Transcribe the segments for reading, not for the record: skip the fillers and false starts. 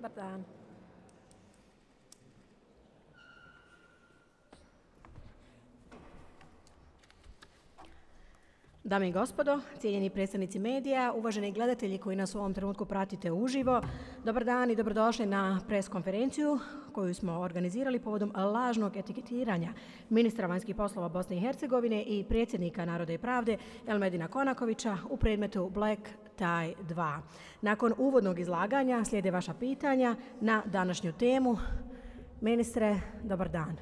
Dobar dan. Dame i gospodo, cijenjeni predstavnici medija, uvaženi gledatelji koji nas u ovom trenutku pratite uživo, dobar dan i dobrodošli na pres konferenciju koju smo organizirali povodom lažnog etiketiranja ministra vanjskih poslova Bosne i Hercegovine i predsjednika Naroda i pravde Elmedina Konakovića u predmetu Black Tie 2. Nakon uvodnog izlaganja slijede vaša pitanja na današnju temu. Ministre, dobar dan.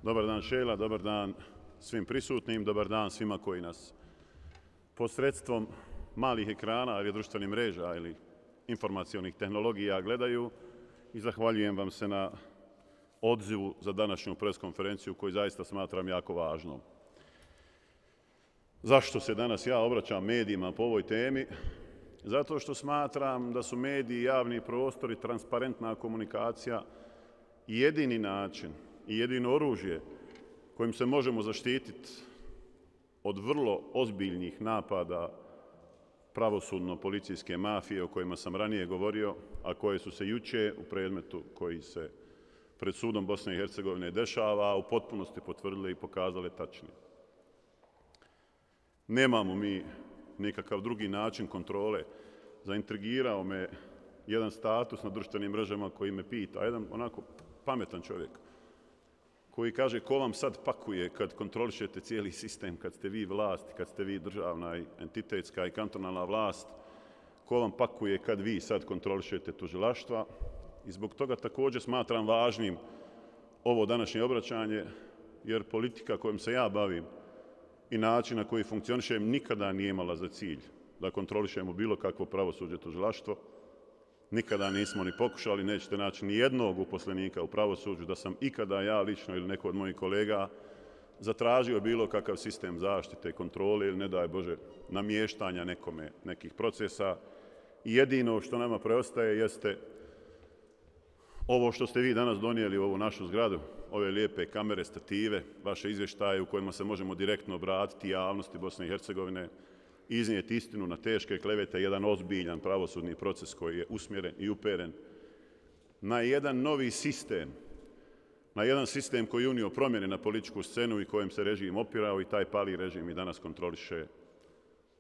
Dobar dan Šela, dobar dan svim prisutnim, dobar dan svima koji nas posredstvom malih ekrana ili društvenih mreža ili informacionih tehnologija gledaju i zahvaljujem vam se na odzivu za današnju preskonferenciju koju zaista smatram jako važnom. Zašto se danas ja obraćam medijima po ovoj temi? Zato što smatram da su mediji, javni prostor i transparentna komunikacija jedini način i jedino oružje kojim se možemo zaštititi od vrlo ozbiljnih napada pravosudno-policijske mafije o kojima sam ranije govorio, a koje su se juče u predmetu koji se pred sudom Bosne i Hercegovine dešava u potpunosti potvrdile i pokazale tačni. Nemamo mi nikakav drugi način kontrole. Zaintrigirao me jedan status na društvenim mrežama koji me pita, jedan onako pametan čovjek, koji kaže ko vam sad pakuje kad kontrolišete cijeli sistem, kad ste vi vlast, kad ste vi državna i entitetska i kantonalna vlast, ko vam pakuje kad vi sad kontrolišete tužilaštva. I zbog toga također smatram važnim ovo današnje obraćanje, jer politika kojom se ja bavim i način na koji funkcionišem nikada nije imala za cilj da kontrolišemo bilo kakvo pravosuđe tužilaštvo. Nikada nismo ni pokušali, nećete naći ni jednog uposlenika u pravosuđu da sam ikada ja lično ili neko od mojih kolega zatražio bilo kakav sistem zaštite, kontrole ili ne daj Bože namještanja nekih procesa. I jedino što nama preostaje jeste ovo što ste vi danas donijeli u ovu našu zgradu, ove lijepe kamere, stative, vaše izvještaje u kojima se možemo direktno obratiti javnosti Bosne i Hercegovine, iznijeti istinu na teške klevete, jedan ozbiljan pravosudni proces koji je usmjeren i uperen na jedan novi sistem, na jedan sistem koji je unio promjene na političku scenu i kojem se režim opirao i taj pali režim i danas kontroliše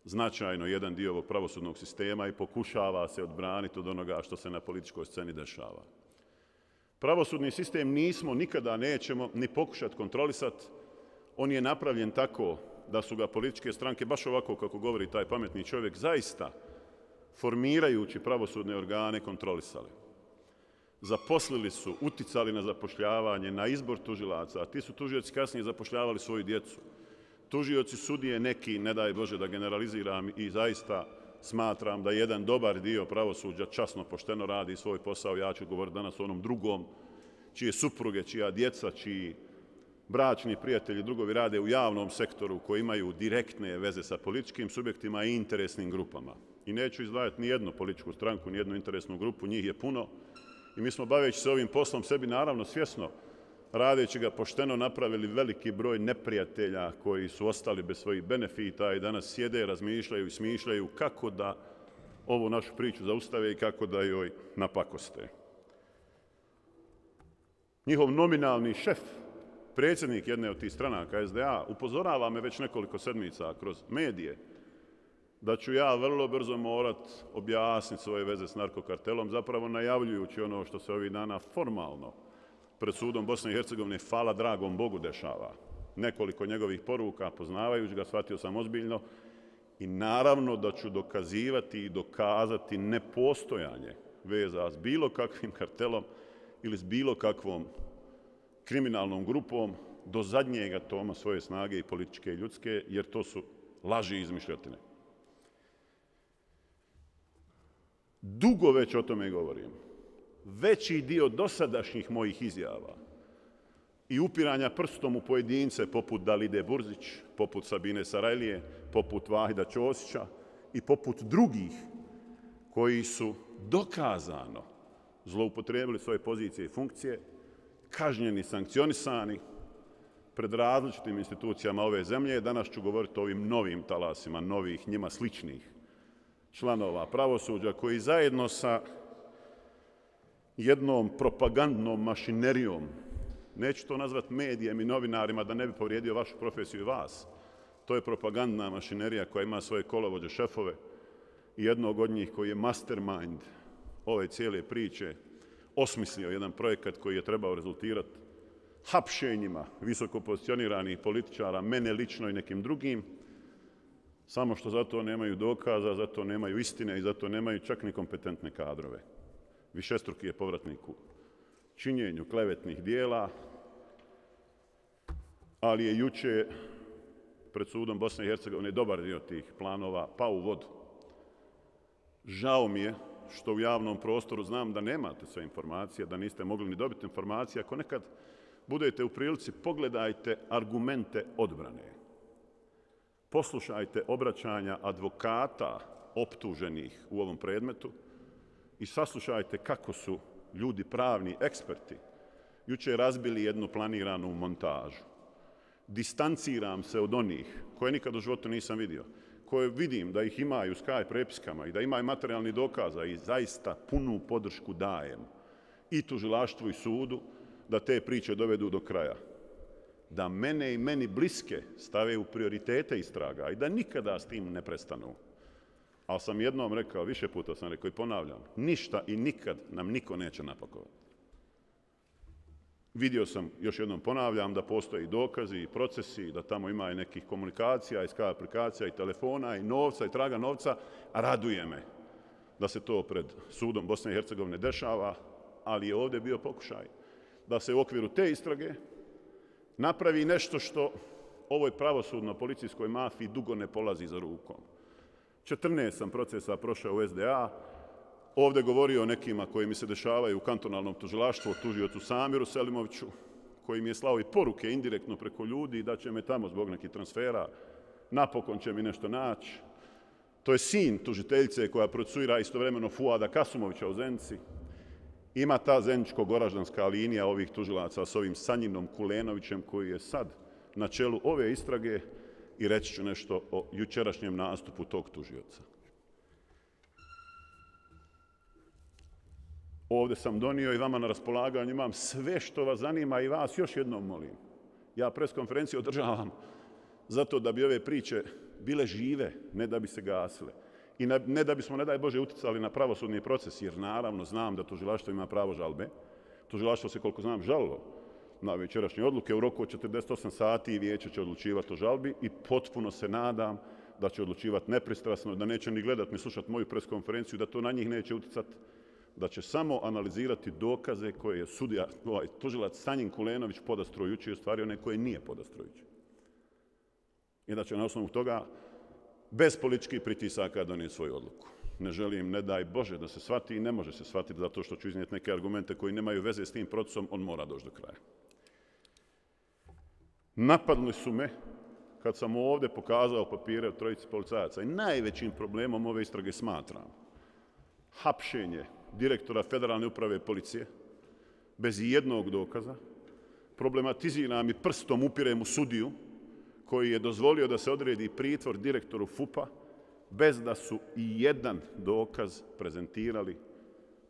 značajno jedan dio ovog pravosudnog sistema i pokušava se odbraniti od onoga što se na političkoj sceni dešava. Pravosudni sistem nismo, nikada nećemo ni pokušati kontrolisati. On je napravljen tako da su ga političke stranke, baš ovako kako govori taj pametni čovjek, zaista formirajući pravosudne organe kontrolisali. Zaposlili su, uticali na zapošljavanje, na izbor tužilaca, a ti su tužioci kasnije zapošljavali svoju djecu. Tužioci, sudije, neki, ne daj Bože da generaliziram, i zaista smatram da jedan dobar dio pravosuđa časno, pošteno radi svoj posao. Ja ću govoriti danas o onom drugom, čije supruge, čija djeca, čiji bračni prijatelji, drugovi rade u javnom sektoru koji imaju direktne veze sa političkim subjektima i interesnim grupama. I neću izdvajati ni jednu političku stranku, ni jednu interesnu grupu, njih je puno. I mi smo, baveći se ovim poslom, sebi naravno svjesno, radeći ga pošteno, napravili veliki broj neprijatelja koji su ostali bez svojih benefita i danas sjede, razmišljaju i smišljaju kako da ovu našu priču zaustave i kako da joj napakoste. Njihov nominalni šef, predsjednik jedne od tih stranaka, SDA, upozorava me već nekoliko sedmica kroz medije da ću ja vrlo brzo morat objasniti svoje veze s narkokartelom, zapravo najavljujući ono što se ovih dana formalno pred sudom Bosne i Hercegovine, hvala dragom Bogu, dešava. Nekoliko njegovih poruka, poznavajući ga, shvatio sam ozbiljno i naravno da ću dokazivati i dokazati nepostojanje veza s bilo kakvim kartelom ili s bilo kakvom kriminalnom grupom do zadnjega toma svoje snage i političke i ljudske, jer to su laži i izmišljotine. Dugo već o tome govorim. Veći dio dosadašnjih mojih izjava i upiranja prstom u pojedince poput Dalide Burzić, poput Sabine Sarajlije, poput Vahida Ćosića i poput drugih koji su dokazano zloupotrijebili svoje pozicije i funkcije, kažnjeni, sankcionisani pred različitim institucijama ove zemlje. Danas ću govoriti o ovim novim talasima, novih, njima sličnih članova pravosuđa koji zajedno sa jednom propagandnom mašinerijom, neću to nazvati medijem i novinarima da ne bi povrijedio vašu profesiju i vas, to je propagandna mašinerija koja ima svoje kolovođe, šefove i jednog od njih koji je mastermind ove cijele priče, osmislio jedan projekat koji je trebao rezultirati hapšenjima visoko pozicioniranih političara, mene lično i nekim drugim, samo što zato nemaju dokaza, zato nemaju istine i zato nemaju čak ni kompetentne kadrove. Višestruki je povratnik u činjenju klevetnih dijela, ali je juče pred sudom Bosne i Hercegovine dobar dio tih planova pao u vodu. Žao mi je što u javnom prostoru znam da nemate sve informacije, da niste mogli ni dobiti informacije. Ako nekad budete u prilici, pogledajte argumente odbrane. Poslušajte obraćanja advokata optuženih u ovom predmetu i saslušajte kako su ljudi pravni eksperti juče razbili jednu planiranu montažu. Distanciram se od onih koje nikad u životu nisam vidio, koje vidim da ih imaju u Skype prepiskama i da imaju materijalni dokaza i zaista punu podršku dajem i tužilaštvu i sudu da te priče dovedu do kraja. Da mene i meni bliske stave u prioritete istraga i da nikada s tim ne prestanu. Ali sam jednom rekao, više puta sam rekao i ponavljam, ništa i nikad nam niko neće napakovati. Vidio sam, još jednom ponavljam, da postoje i dokazi i procesi, da tamo ima i nekih komunikacija, i Skype aplikacija, i telefona, i novca, i traga novca. Raduje me da se to pred sudom Bosne i Hercegovine dešava, ali je ovdje bio pokušaj da se u okviru te istrage napravi nešto što ovoj pravosudno-policijskoj mafiji dugo ne polazi za rukom. 14 sam procesa prošao u SDA, ovdje govorio o nekima koji mi se dešavaju u kantonalnom tužilaštvu, o tužiocu Samiru Selimoviću, koji mi je slao i poruke indirektno preko ljudi da će me tamo zbog nekih transfera, napokon će mi nešto naći. To je sin tužiteljice koja procesuira istovremeno Fuada Kasumovića u Zenici. Ima ta zeničko-goraždanska linija ovih tužilaca s ovim Sanjinom Kulenovićem koji je sad na čelu ove istrage i reći ću nešto o jučerašnjem nastupu tog tužioca. Ovdje sam donio i vama na raspolaganju, imam sve što vas zanima i vas još jednom molim. Ja preskonferenciju održavam zato da bi ove priče bile žive, ne da bi se gasile. I ne da bismo, ne daj Bože, uticali na pravosudni proces, jer naravno znam da tužilaštvo ima pravo žalbe. Tužilaštvo se, koliko znam, žalilo na večerašnje odluke. U roku od 48 sati vijeće će odlučivati o žalbi i potpuno se nadam da će odlučivati nepristrasno, da neće ni gledati ni slušati moju preskonferenciju, da to na njih neće uticati, da će samo analizirati dokaze koje je tužilac Sanjin Kulenović podastrojući i ostvario one koje nije podastrojući. I da će na osnovu toga bez političkih pritisaka donijeti svoju odluku. Ne želim, ne daj Bože, da se shvati i ne može se shvatiti zato što ću iznijeti neke argumente koji nemaju veze s tim procesom, on mora doći do kraja. Napadli su me kad sam ovdje pokazao papire od trojici policajaca i najvećim problemom ove istrage smatram hapšenje direktora Federalne uprave policije bez jednog dokaza, problematiziram i prstom upirem u sudiju koji je dozvolio da se odredi pritvor direktoru FUP-a bez da su i jedan dokaz prezentirali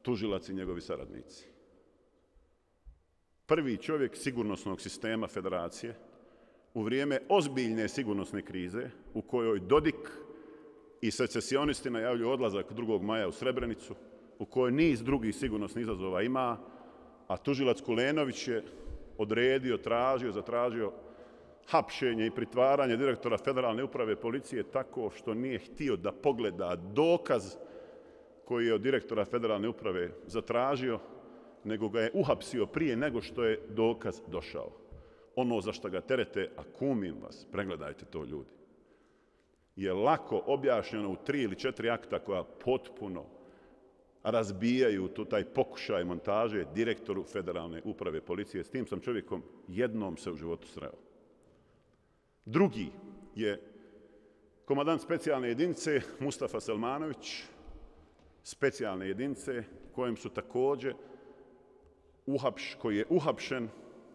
tužilac i njegovi saradnici. Prvi čovjek sigurnosnog sistema federacije u vrijeme ozbiljne sigurnosne krize u kojoj Dodik i secesionisti najavljuju odlazak 2. maja u Srebrenicu, u kojoj niz drugih sigurnosnih izazova ima, a tužilac Kulenović je odredio, zatražio hapšenje i pritvaranje direktora Federalne uprave policije tako što nije htio da pogleda dokaz koji je od direktora Federalne uprave zatražio, nego ga je uhapsio prije nego što je dokaz došao. Ono za što ga terete, a kumim vas, pregledajte to ljudi, je lako objašnjeno u 3 ili 4 akta koja potpuno razbijaju taj pokušaj montaže direktoru Federalne uprave policije. S tim sam čovjekom jednom se u životu sreo. Drugi je komandant specijalne jedinice Mustafa Selmanović, specijalne jedinice kojem su također koji je uhapšen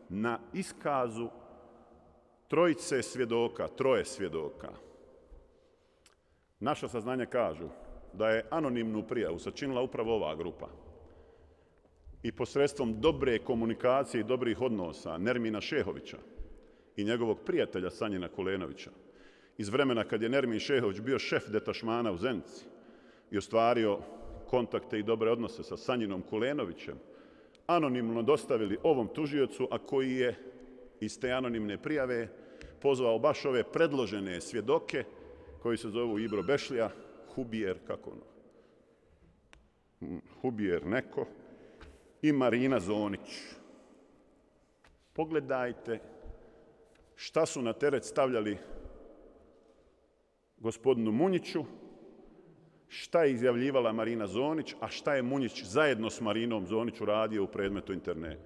na iskazu troje svjedoka. Naša saznanja kažu da je anonimnu prijavu sačinila upravo ova grupa. i posredstvom dobre komunikacije i dobrih odnosa Nermina Šehovića i njegovog prijatelja Sanjina Kulenovića iz vremena kad je Nermin Šehović bio šef detašmana u Zenici i ostvario kontakte i dobre odnose sa Sanjinom Kulenovićem, anonimno dostavili ovom tužiocu, a koji je iz te anonimne prijave pozvao baš ove predložene svjedoke koji se zovu Ibro Bešlija, Hubijer, kako ono? Hubijer neko i Marina Zonić. Pogledajte šta su na teret stavljali gospodinu Munjiću, šta je izjavljivala Marina Zonić, a šta je Munjić zajedno s Marinom Zonić uradio u predmetu interne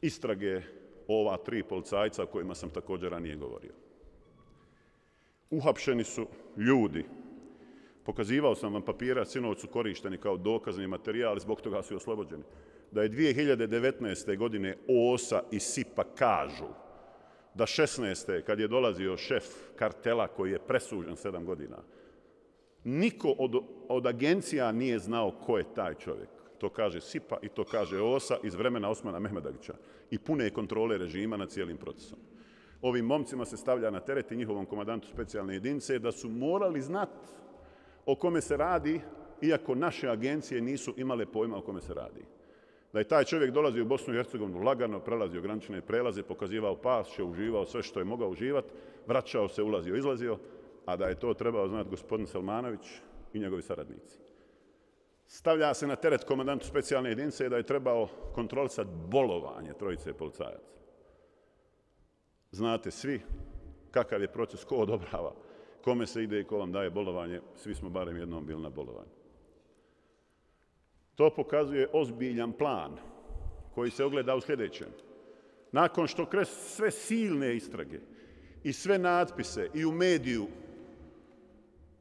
istrage ova 3 policajca o kojima sam također ranije govorio. Uhapšeni su ljudi. Pokazivao sam vam papira, sinoć su korišteni kao dokazni materijal, zbog toga su i oslobođeni. Da je 2019. godine OSA i SIPA kažu da 16. kad je dolazio šef kartela koji je presuđen 7 godina, niko od agencija nije znao ko je taj čovjek. To kaže SIPA i to kaže OSA iz vremena Osmana Mehmedagića i pune kontrole režima nad cijelim procesom. Ovim momcima se stavlja na teret i njihovom komandantu specijalne jedinice da su morali znati o kome se radi, iako naše agencije nisu imale pojma o kome se radi. Da je taj čovjek dolazio u Bosnu i Hercegovinu lagano, prelazio granične prelaze, pokazivao pasoše, uživao sve što je mogao uživati, vraćao se, ulazio, izlazio, a da je to trebao znati gospodin Selmanović i njegovi saradnici. Stavlja se na teret komandantu specijalne jedinice da je trebao kontrolisati bolovanje 3 policajaca. Znate svi kakav je proces, ko odobrava, kome se ide i ko vam daje bolovanje, svi smo barem jednom bili na bolovanju. To pokazuje ozbiljan plan koji se ogleda u sljedećem. Nakon što kroz sve silne istrage i sve natpise i u mediju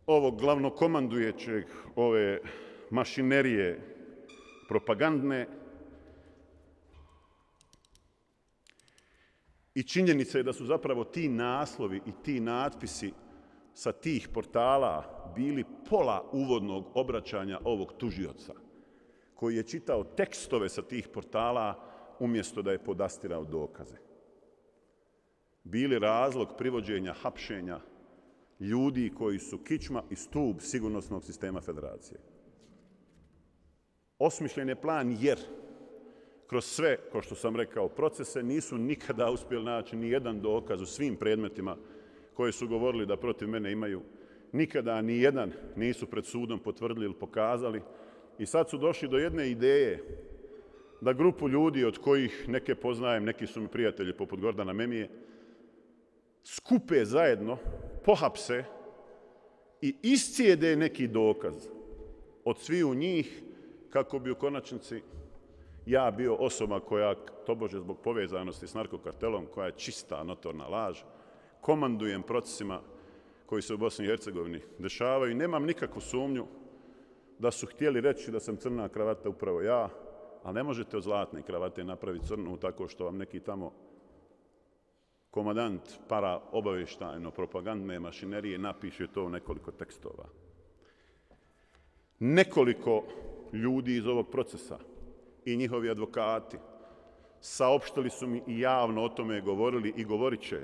ovog glavnokomandujećeg ove mašinerije propagandne i činjenica je da su zapravo ti naslovi i ti natpisi sa tih portala bili pola uvodnog obraćanja ovog tužioca, koji je čitao tekstove sa tih portala umjesto da je podastirao dokaze. Bili razlog privođenja, hapšenja ljudi koji su kičma i stub sigurnosnog sistema federacije. Osmišljen je plan jer kroz sve, kao što sam rekao, procese nisu nikada uspjeli naći ni jedan dokaz u svim predmetima koje su govorili da protiv mene imaju. Nikada ni jedan nisu pred sudom potvrdili ili pokazali. I sad su došli do jedne ideje da grupu ljudi od kojih neke poznajem, neki su mi prijatelji poput Gordana Memije, skupe zajedno, pohapse i iscijede neki dokaz od sviju njih kako bi u konačnici ja bio osoba koja, tobože zbog povezanosti s narkokartelom, koja je čista notorna laž, komandujem procesima koji se u Bosni i Hercegovini dešavaju i nemam nikakvu sumnju da su htjeli reći da sam crna kravata upravo ja, ali ne možete od zlatne kravate napraviti crnu tako što vam neki tamo komandant para obavještajno propagandne mašinerije napiše to u nekoliko tekstova. Nekoliko ljudi iz ovog procesa i njihovi advokati saopštili su mi i javno o tome govorili i govorit će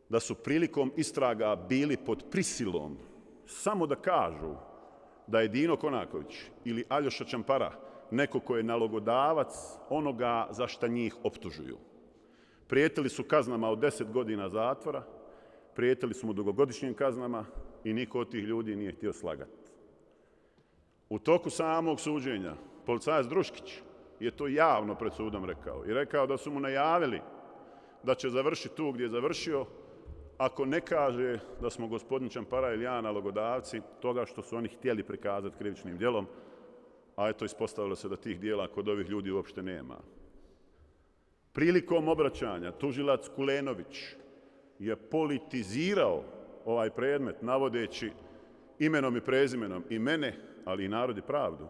da su prilikom istraga bili pod prisilom samo da kažu da je Dino Konaković ili Aljoša Čampara neko ko je nalogodavac onoga za šta njih optužuju. Prijetili su kaznama od 10 godina zatvora, prijetili su mu dugogodišnjim kaznama i niko od tih ljudi nije htio slagati. U toku samog suđenja policajac Druškić je to javno pred sudom rekao i rekao da su mu najavili da će završiti tu gdje je završio ako ne kaže da smo gospodin Čampara ili ja nalogodavci toga što su oni htjeli prikazati krivičnim djelom, a eto ispostavilo se da tih djela kod ovih ljudi uopšte nema. Prilikom obraćanja tužilac Kulenović je politizirao ovaj predmet navodeći imenom i prezimenom i mene, ali i Narod i pravdu,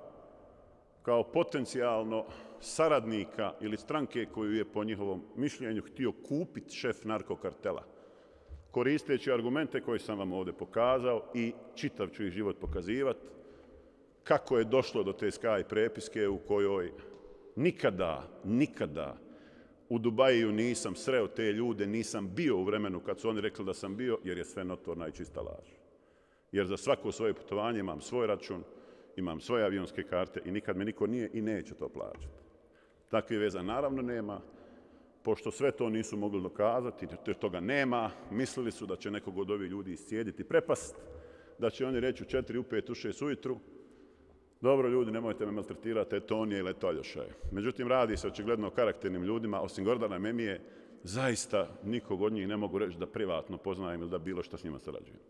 kao potencijalno saradnika ili stranke koju je po njihovom mišljenju htio kupiti šef narkokartela. Koristeći argumente koje sam vam ovdje pokazao i čitav ću ih život pokazivati, kako je došlo do te Sky prepiske u kojoj Nikada u Dubaju nisam sreo te ljude, nisam bio u vremenu kad su oni rekli da sam bio, jer je sve notorna i čista laž. Jer za svako svoje putovanje imam svoj račun, imam svoje avionske karte i nikad me niko nije i neće to plaćati. Takve veza naravno nema. Pošto sve to nisu mogli dokazati, jer toga nema, mislili su da će nekog od ovih ljudi iscijediti prepast, da će oni reći u 4, u 5, u 6 ujutru, dobro ljudi, nemojte me maltretirati, eto on je ili eto Aljoša je. Međutim, radi se očigledno o karakternim ljudima, osim Gordana Memije, zaista nikog od njih ne mogu reći da privatno poznajem ili da bilo što s njima sarađujem.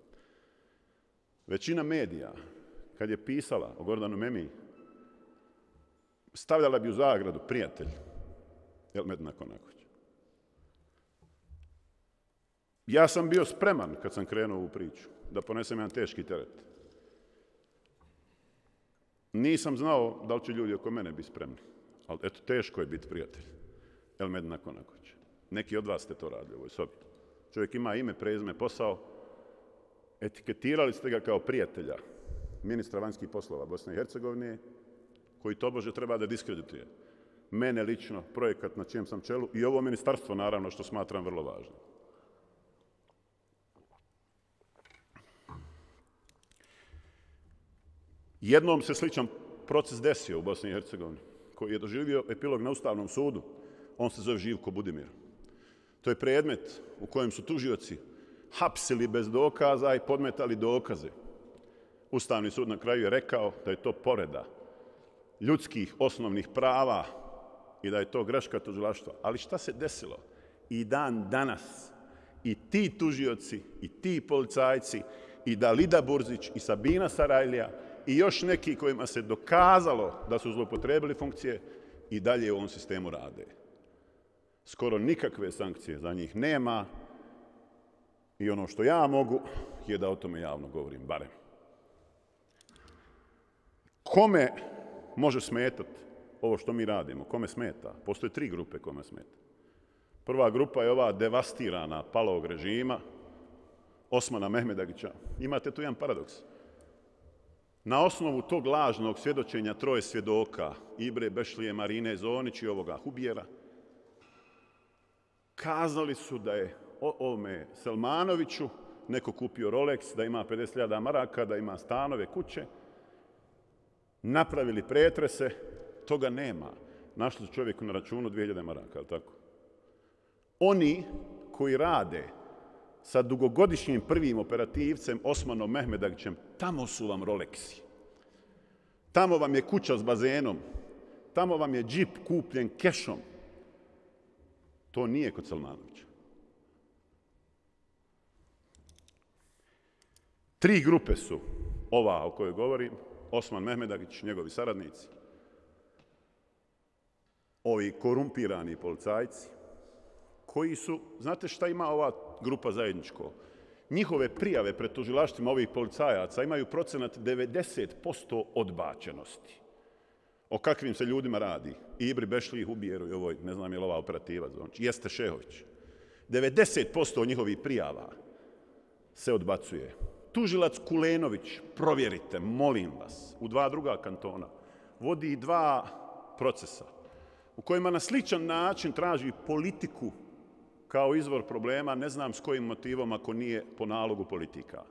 Većina medija, kad je pisala o Gordanu Memiji, stavljala bi u zagradu prijatelj Elmedina Konakovića. Ja sam bio spreman, kad sam krenuo u priču, da ponesem jedan teški teret. Nisam znao da li će ljudi oko mene biti spremni. Ali eto, teško je biti prijatelj Elmedina Konakovića. Neki od vas ste to radili u ovoj sobi. Čovjek ima ime, prezime, posao. Etiketirali ste ga kao prijatelja ministra vanjskih poslova Bosne i Hercegovine, koji tobože treba da diskredituje mene lično, projekat na čijem sam čelu i ovo ministarstvo, naravno, što smatram vrlo važno. Jednom se sličan proces desio u Bosni i Hercegovini, koji je doživio epilog na Ustavnom sudu. On se zove Živko Budimir. To je predmet u kojem su tužioci hapsili bez dokaza i podmetali dokaze. Ustavni sud na kraju je rekao da je to povreda ljudskih osnovnih prava i da je to greška tužilaštva. Ali šta se desilo? I dan danas i ti tužioci i ti policajci i Dalida Burzić i Sabina Sarajlija i još neki kojima se dokazalo da su zloupotrebili funkcije i dalje u ovom sistemu rade. Skoro nikakve sankcije za njih nema i ono što ja mogu je da o tome javno govorim, barem. Kome može smetati ovo što mi radimo? Kome smeta? Postoje 3 grupe kome smeta. Prva grupa je ova devastirana palog režima Osmana Mehmedagića. Imate tu jedan paradoks. Na osnovu tog lažnog svjedočenja 3 svjedoka, Ibre Bešlije, Marine Zonić i ovoga Hubijera, kazali su da je ovome Selmanoviću neko kupio Rolex, da ima 50.000 maraka, da ima stanove, kuće, napravili pretrese, toga nema. Našli su čovjeku na računu 2.000 maraka, ali tako? Oni koji rade sa dugogodišnjim prvim operativcem Osmanom Mehmedagićem, tamo su vam Rolexi. Tamo vam je kuća s bazenom. Tamo vam je džip kupljen kešom. To nije kod Selmanovića. 3 grupe su ova o kojoj govorim. Osman Mehmedagić, njegovi saradnici. Ovi korumpirani policajci koji su, znate šta ima ova grupa zajedničko? Njihove prijave pred tužilaštvima ovih policajaca imaju procenat 90% odbačenosti. O kakvim se ljudima radi? Ibri Bešliji, Hubijeru i ovoj, ne znam je li ova operativa, znači, Jeste Šehović. 90% njihovih prijava se odbacuje. Tužilac Kulenović, provjerite, molim vas, u 2 druga kantona, vodi 2 procesa u kojima na sličan način traži politiku kao izvor problema, ne znam s kojim motivom ako nije po nalogu politika.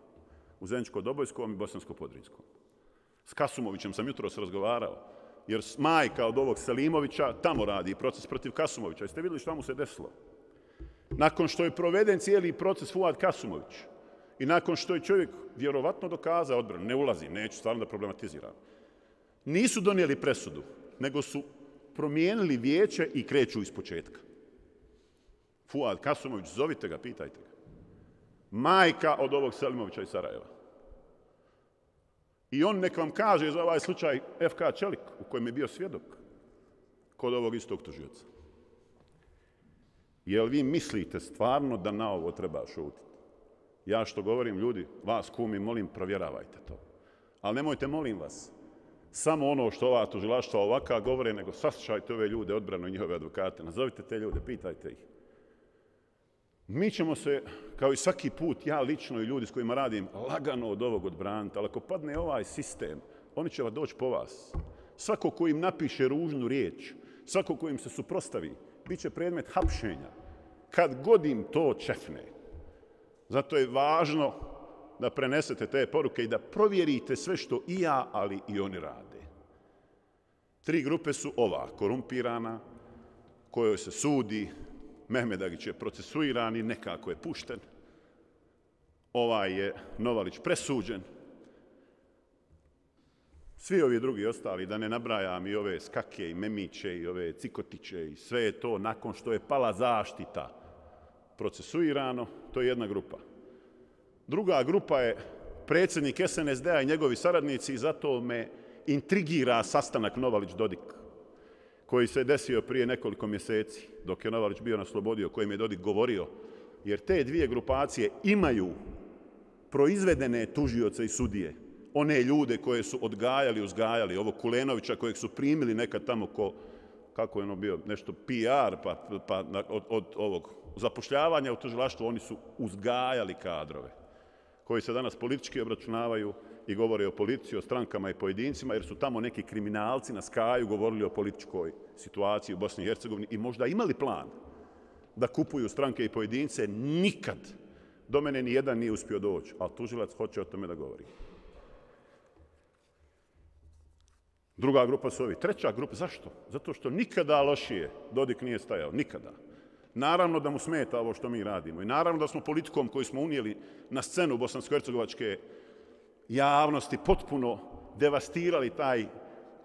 U Zeničko-Dobojskom i Bosansko-Podrinjskom. S Kasumovićem sam jutros razgovarao, jer majka od ovog Selimovića tamo radi proces protiv Kasumovića. Jeste vidjeli šta mu se desilo? Nakon što je proveden cijeli proces Fuad Kasumović i nakon što je čovjek vjerovatno dokazao odbranu, ne ulazim, neću stvarno da problematiziram, nisu donijeli presudu, nego su promijenili vijeće i kreću iz početka. Fuad Kasumović, zovite ga, pitajte ga. Majka od ovog Selimovića iz Sarajeva. I on nek vam kaže za ovaj slučaj FK Čelik, u kojem je bio svjedok kod ovog istog tužioca. Jel vi mislite stvarno da na ovo treba šutiti? Ja što govorim, ljudi, vas kumi, molim, provjeravajte to. Ali nemojte, molim vas, samo ono što ova tužilaštva ovaka govore, nego saslušajte ove ljude, odbranu i njihove advokate. Nazovite te ljude, pitajte ih. Mi ćemo se, kao i svaki put, ja lično i ljudi s kojima radim, lagano od ovog odbraniti, ali ako padne ovaj sistem, oni će doći po vas. Svako ko im napiše ružnu riječ, svako ko im se suprotstavi, bit će predmet hapšenja. Kad god im to čefne. Zato je važno da prenesete te poruke i da provjerite sve što i ja, ali i oni rade. 3 grupe su ova, korumpirana, kojoj se sudi, Mehmed Agić je procesuiran i nekako je pušten. Ovaj je Novalić presuđen. Svi ovi drugi ostali, da ne nabrajam i ove Skake i Memiće i ove Cikotiće i sve je to nakon što je pala zaštita procesuirano, to je jedna grupa. Druga grupa je predsjednik SNSD-a i njegovi saradnici i zato me intrigira sastanak Novalić-Dodik koji se desio prije nekoliko mjeseci dok je Novalić bio na slobodi o kojem je Dodik govorio, jer te 2 grupacije imaju proizvedene tužioce i sudije, one ljude koje su odgajali, uzgajali, ovog Kulenovića kojeg su primili nekad tamo kako je ono bio, nešto PR, pa od ovog zapošljavanja u tužilaštvu, oni su uzgajali kadrove koji se danas politički obračunavaju i govore o politici, o strankama i pojedincima, jer su tamo neki kriminalci na Skaju govorili o političkoj situaciji u Bosni i Hercegovini i možda imali plan da kupuju stranke i pojedince. Nikad do mene ni jedan nije uspio doći, ali tužilac hoće o tome da govori. Druga grupa su ovi. Treća grupa, zašto? Zato što nikada lošije Dodik nije stajao, nikada. Naravno da mu smeta ovo što mi radimo i naravno da smo politikom koju smo unijeli na scenu bosansko-hercegovačke javnosti potpuno devastirali taj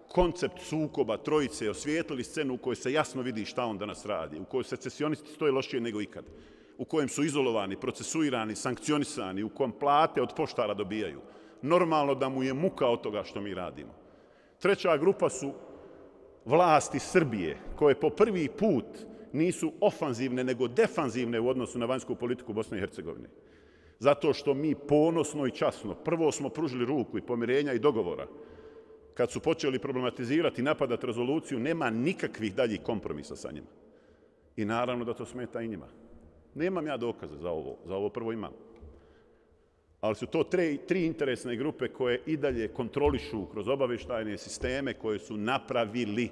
koncept sukoba trojice, osvijetlili scenu u kojoj se jasno vidi šta on danas radi, u kojoj secesionisti stoje lošije nego ikad, u kojem su izolovani, procesuirani, sankcionisani, u kojem plate od poštara dobijaju. Normalno da mu je muka od toga što mi radimo. Treća grupa su vlasti Srbije, koje po prvi put nisu ofanzivne, nego defanzivne u odnosu na vanjsku politiku Bosne i Hercegovine. Zato što mi ponosno i časno prvo smo pružili ruku i pomirenja i dogovora. Kad su počeli problematizirati i napadati rezoluciju, nema nikakvih daljih kompromisa sa njima. I naravno da to smeta i njima. Nemam ja dokaze za ovo prvo imam. Ali su to 3 interesne grupe koje i dalje kontrolišu kroz obavještajne sisteme koje su napravili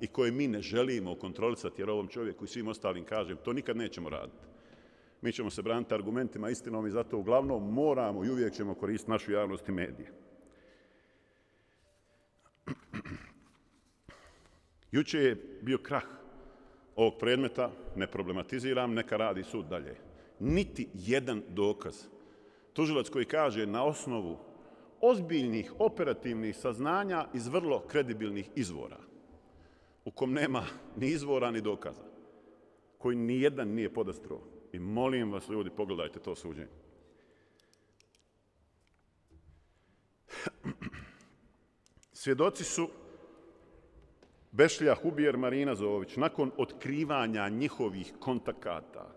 i koje mi ne želimo kontrolisati, jer ovom čovjeku i svim ostalim kažem, to nikad nećemo raditi. Mi ćemo se braniti argumentima, istinom i zato uglavnom moramo i uvijek ćemo koristiti našu javnost i medije. Juče je bio krah ovog predmeta, ne problematiziram, neka radi sud dalje. Niti jedan dokaz. Tužilac koji kaže na osnovu ozbiljnih operativnih saznanja iz vrlo kredibilnih izvora, u kom nema ni izvora ni dokaza, koji ni jedan nije podastro. I molim vas, ljudi, pogledajte to suđenje. Svjedoci su Bešlija Hubijer, Marina Zović, nakon otkrivanja njihovih kontakata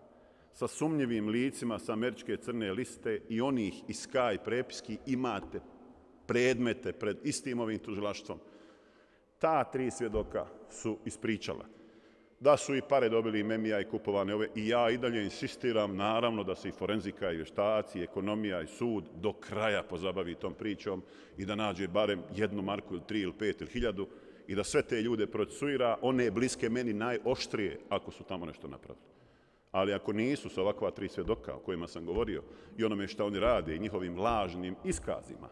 sa sumnjivim licima sa američke crne liste i onih iz Sky prepiski, imate predmete pred istim ovim tužilaštvom. Ta 3 svjedoka su ispričala da su i pare dobili i Memija i kupovane ove. I ja i dalje insistiram, naravno, da se i forenzika, i vještaci, i ekonomija, i sud do kraja pozabavi tom pričom i da nađe barem 1 marku ili 3 ili 5 ili 1000 i da sve te ljude procesuira, one bliske meni najoštrije ako su tamo nešto napravili. Ali ako nisu sa ovakva 3 svjedoka o kojima sam govorio i onome što oni rade i njihovim lažnim iskazima,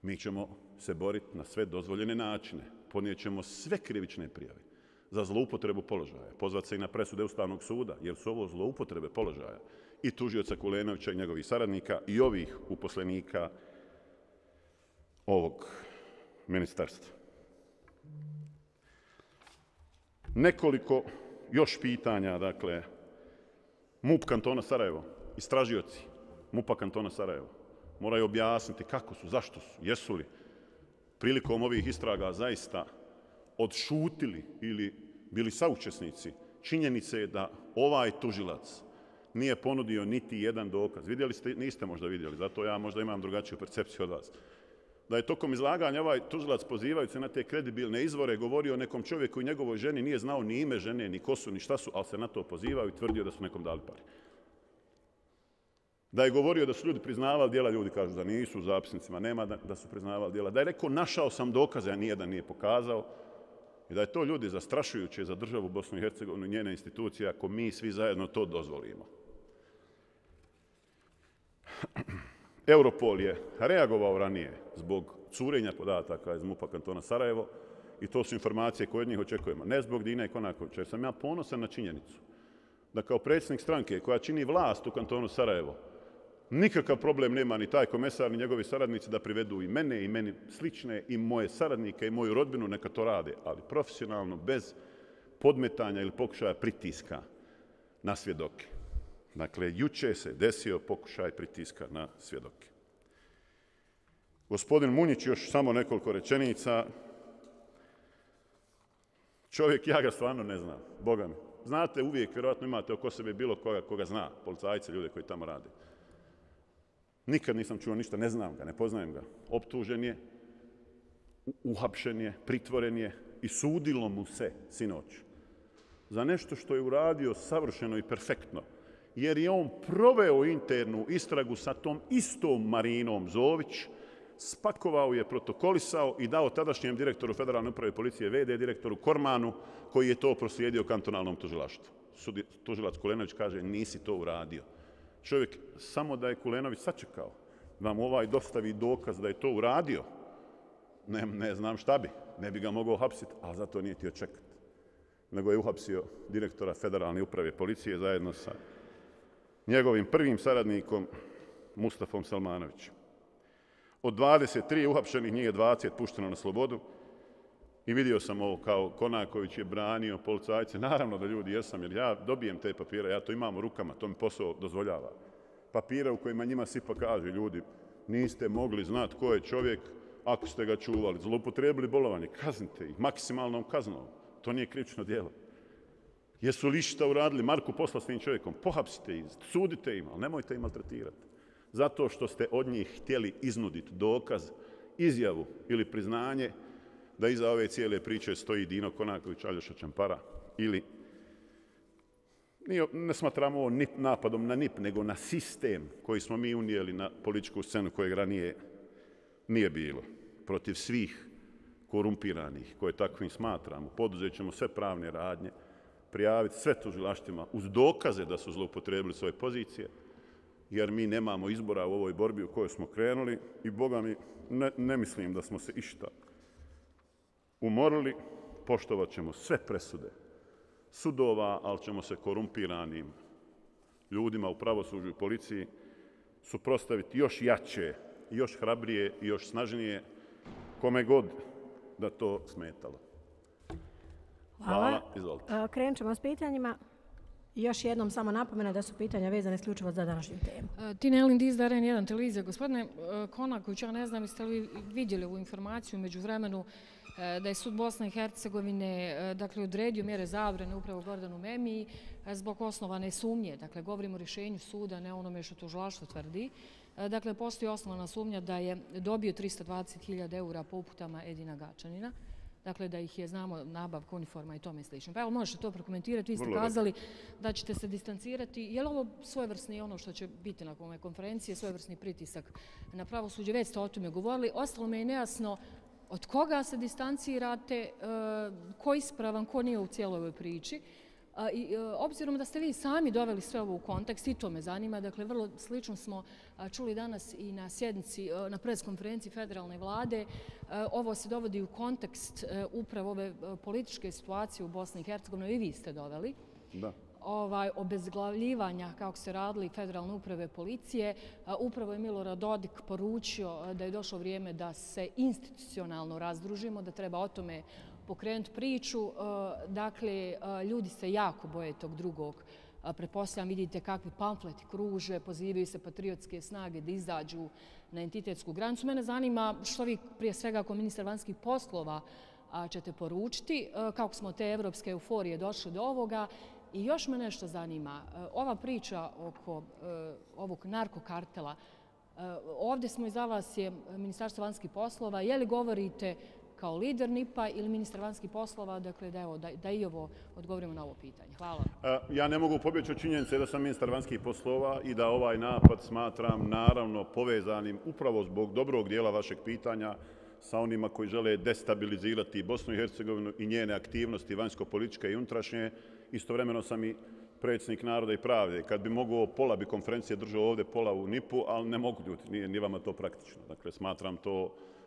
mi ćemo se boriti na sve dozvoljene načine. Ponijet ćemo sve krivične prijave za zloupotrebu položaja. Pozvat se i na presude Ustavnog suda, jer su ovo zloupotrebe položaja i tužioca Kulenovića i njegovih saradnika i ovih uposlenika ovog ministarstva. Nekoliko još pitanja, dakle, MUP kantona Sarajevo, istražioci MUP-a kantona Sarajevo moraju objasniti kako su, zašto su, jesu li prilikom ovih istraga zaista odšutili ili bili saučesnici činjenice je da ovaj tužilac nije ponudio niti jedan dokaz. Vidjeli ste, niste možda vidjeli, zato ja možda imam drugačiju percepciju od vas. Da je tokom izlaganja ovaj tužilac pozivajući se na te kredibilne izvore govorio o nekom čovjeku i njegovoj ženi, nije znao ni ime žene, ni ko su, ni šta su, ali se na to pozivao i tvrdio da su nekom dali pare. Da je govorio da su ljudi priznavali djela, ljudi kažu da nisu, u zapisnicima nema da su priznavali djela. Da je rekao našao sam dokaze, a nijedan nije pokazao. I da je to, ljudi, zastrašujuće za državu Bosnu i Hercegovinu i njene institucije ako mi svi zajedno to dozvolimo. Europol je reagovao ranije zbog curenja podataka iz MUP-a kantona Sarajevo i to su informacije koje od njih očekujemo. Ne zbog Dine Konakovića, jer sam ja ponosan na činjenicu da kao predsjednik stranke koja čini vlast u kantonu Sarajevo, nikakav problem nema ni taj komesar ni njegovi saradnici da privedu i mene i meni slične i moje saradnike i moju rodbinu, neka to rade, ali profesionalno, bez podmetanja ili pokušaja pritiska na svjedoke. Dakle, juče se desio pokušaj pritiska na svjedoke. Gospodin Munjić, još samo nekoliko rečenica. Čovjek, ja ga stvarno ne znam, Boga mi. Znate, uvijek, vjerojatno imate oko sebe bilo koga zna, policajce, ljude koji tamo rade. Nikad nisam čuo ništa, ne znam ga, ne poznajem ga. Optužen je, uhapšen je, pritvoren je i sudilo mu se sinoć za nešto što je uradio savršeno i perfektno, jer je on proveo internu istragu sa tom istom Marinom Zović, spakovao je, protokolisao i dao tadašnjem direktoru Federalne uprave policije, VD direktoru Kormanu, koji je to proslijedio kantonalnom tužilaštvu. Tužilac Kulenović kaže, nisi to uradio. Čovjek, samo da je Kulenović sačekao, vam ovaj dostavi dokaz da je to uradio, ne znam šta bi, ne bi ga mogao hapsiti, ali zato nije htio čekati. Nego je uhapsio direktora Federalne uprave policije zajedno sa njegovim prvim saradnikom Mustafom Salmanovićem. Od 23 uhapšenih, njih je 20 pušteno na slobodu i vidio sam ovo kao Konaković je branio policajce. Naravno da, ljudi, jesam, jer ja dobijem te papire, ja to imam u rukama, to mi posao dozvoljava. Papire u kojima njima SIPA kaže, ljudi, niste mogli znati ko je čovjek ako ste ga čuvali, zloupotrijebili bolovanje, kaznite ih maksimalnom kaznom. To nije krivično djelo. Jesu li šta uradili? Marku posla s tim čovjekom, pohapsite ih, sudite im, ali nemojte ih maltretirati. Zato što ste od njih htjeli iznuditi dokaz, izjavu ili priznanje da iza ove cijele priče stoji Dino Konaković, Aljoša Čampara, ili ne smatramo ovo napadom na NIP, nego na sistem koji smo mi unijeli na političku scenu kojeg ranije nije bilo. Protiv svih korumpiranih koje takvim smatramo, poduzet ćemo sve pravne radnje, prijaviti sve tužilaštvima uz dokaze da su zloupotrijebili svoje pozicije, jer mi nemamo izbora u ovoj borbi u kojoj smo krenuli i, Boga mi, ne mislim da smo se išta umorili. Poštovat ćemo sve presude sudova, ali ćemo se korumpiranim ljudima u pravosuđu i policiji suprotstaviti još jače, još hrabrije i još snažnije, kome god da to smetalo. Hvala. Izvolite. Krenut ćemo s pitanjima. Još jednom samo napomena da su pitanja vezane isključivo za današnju temu. Tina Elin Diz, N1 televizija. Gospodine Konaković, ja ne znam jeste li vidjeli ovu informaciju među vremenu da je sud Bosne i Hercegovine odredio mjere zabrane upravo Gordanu Memiji zbog osnovane sumnje. Dakle, govorimo o rješenju suda, ne onome što tužilaštvo tvrdi. Dakle, postoji osnovana sumnja da je dobio 320.000 eura po uputama Edina Gačanina. Dakle, da ih je, znamo, nabavka uniforma i tome slično. Pa evo, možete to prokomentirati. Vi ste kazali da ćete se distancirati. Je li ovo svojevrsni ono što će biti na ove konferencije, svojevrsni pritisak na pravosuđe? Već ste o tome govorili. Ostalo me je nejasno od koga se distancirate, ko je ispravan, ko nije u cijeloj ovoj priči. Obzirom da ste vi sami doveli sve ovo u kontekst, i to me zanima, dakle, vrlo slično smo čuli danas i na sjednici, na preskonferenciji federalne vlade, ovo se dovodi u kontekst upravo ove političke situacije u Bosni i Hercegovini, i vi ste doveli. Da. Obezglavljivanja, kako se radili Federalne uprave policije. Upravo je Milorad Dodik poručio da je došlo vrijeme da se institucionalno razdružimo, da treba o tome pokrenuti priču. Dakle, ljudi se jako boje tog drugog. Pretpostavljam, vidite kakvi pamfleti kruže, pozivaju se patriotske snage da izađu na entitetsku granicu. Mene zanima što vi prije svega kao ministar vanjskih poslova ćete poručiti, kako smo te evropske euforije došli do ovoga. I još me nešto zanima, ova priča oko ovog narkokartela, ovdje smo iza vas je Ministarstvo vanjskih poslova, je li govorite kao lider NIP-a ili ministar vanjskih poslova, dakle da i ovo odgovorimo na ovo pitanje. Hvala. Ja ne mogu pobjeći od činjenice da sam ministar vanjskih poslova i da ovaj napad smatram naravno povezanim upravo zbog dobrog dijela vašeg pitanja sa onima koji žele destabilizirati Bosnu i Hercegovinu i njene aktivnosti vanjsko-političke i unutrašnje. Istovremeno sam i predsjednik Naroda i pravde. Kad bi mogao, pola bi konferencije držao ovdje, pola u NIP-u, ali ne mogu ljudi, nije vama to praktično. Dakle,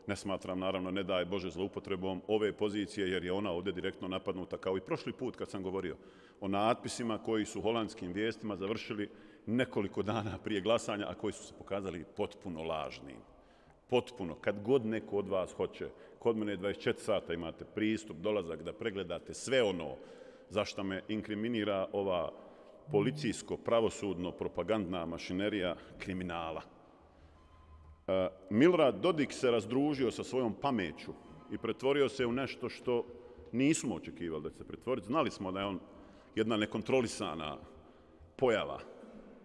ne smatram, naravno, ne daj Bože zloupotrebom ove pozicije, jer je ona ovdje direktno napadnuta, kao i prošli put kad sam govorio o natpisima koji su holandskim vijestima završili nekoliko dana prije glasanja, a koji su se pokazali potpuno lažnim. Potpuno. Kad god neko od vas hoće, kod mene 24 sata imate pristup, dolazak da pregledate sve ono zašto me inkriminira ova policijsko-pravosudno-propagandna mašinerija kriminala. Milorad Dodik se razdružio sa svojom pameću i pretvorio se u nešto što nismo očekivali da će se pretvoriti. Znali smo da je on jedna nekontrolisana pojava,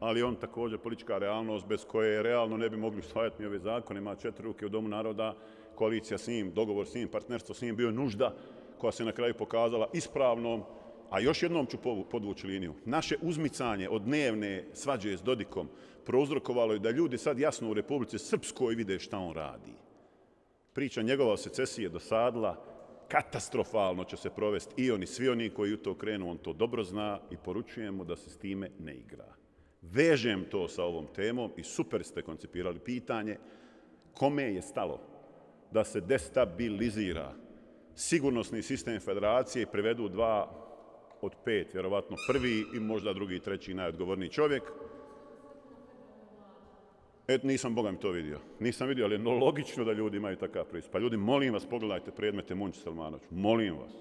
ali on također politička realnost bez koje realno ne bi mogli usvajati ni ove zakone. Ima 4 ruke u Domu naroda, koalicija s njim, dogovor s njim, partnerstvo s njim bio nužda koja se na kraju pokazala ispravnom. A još jednom ću podvući liniju. Naše uzmicanje od dnevne svađe s Dodikom prouzrokovalo je da ljudi sad jasno u Republici Srpskoj vide šta on radi. Priča njegova o secesiji je dosadila, katastrofalno će se provesti i oni, svi oni koji u to krenu, on to dobro zna i poručujem mu da se s time ne igra. Vežem to sa ovom temom i super ste koncipirali pitanje kome je stalo da se destabilizira sigurnosni sistem federacije i privedu 2 od 5, vjerovatno prvi i možda drugi, treći najodgovorniji čovjek. Nisam, Boga mi to vidio. Nisam vidio, ali je logično da ljudi imaju takav pristup. Pa ljudi, molim vas, pogledajte predmete Munči Selmanović. Molim vas.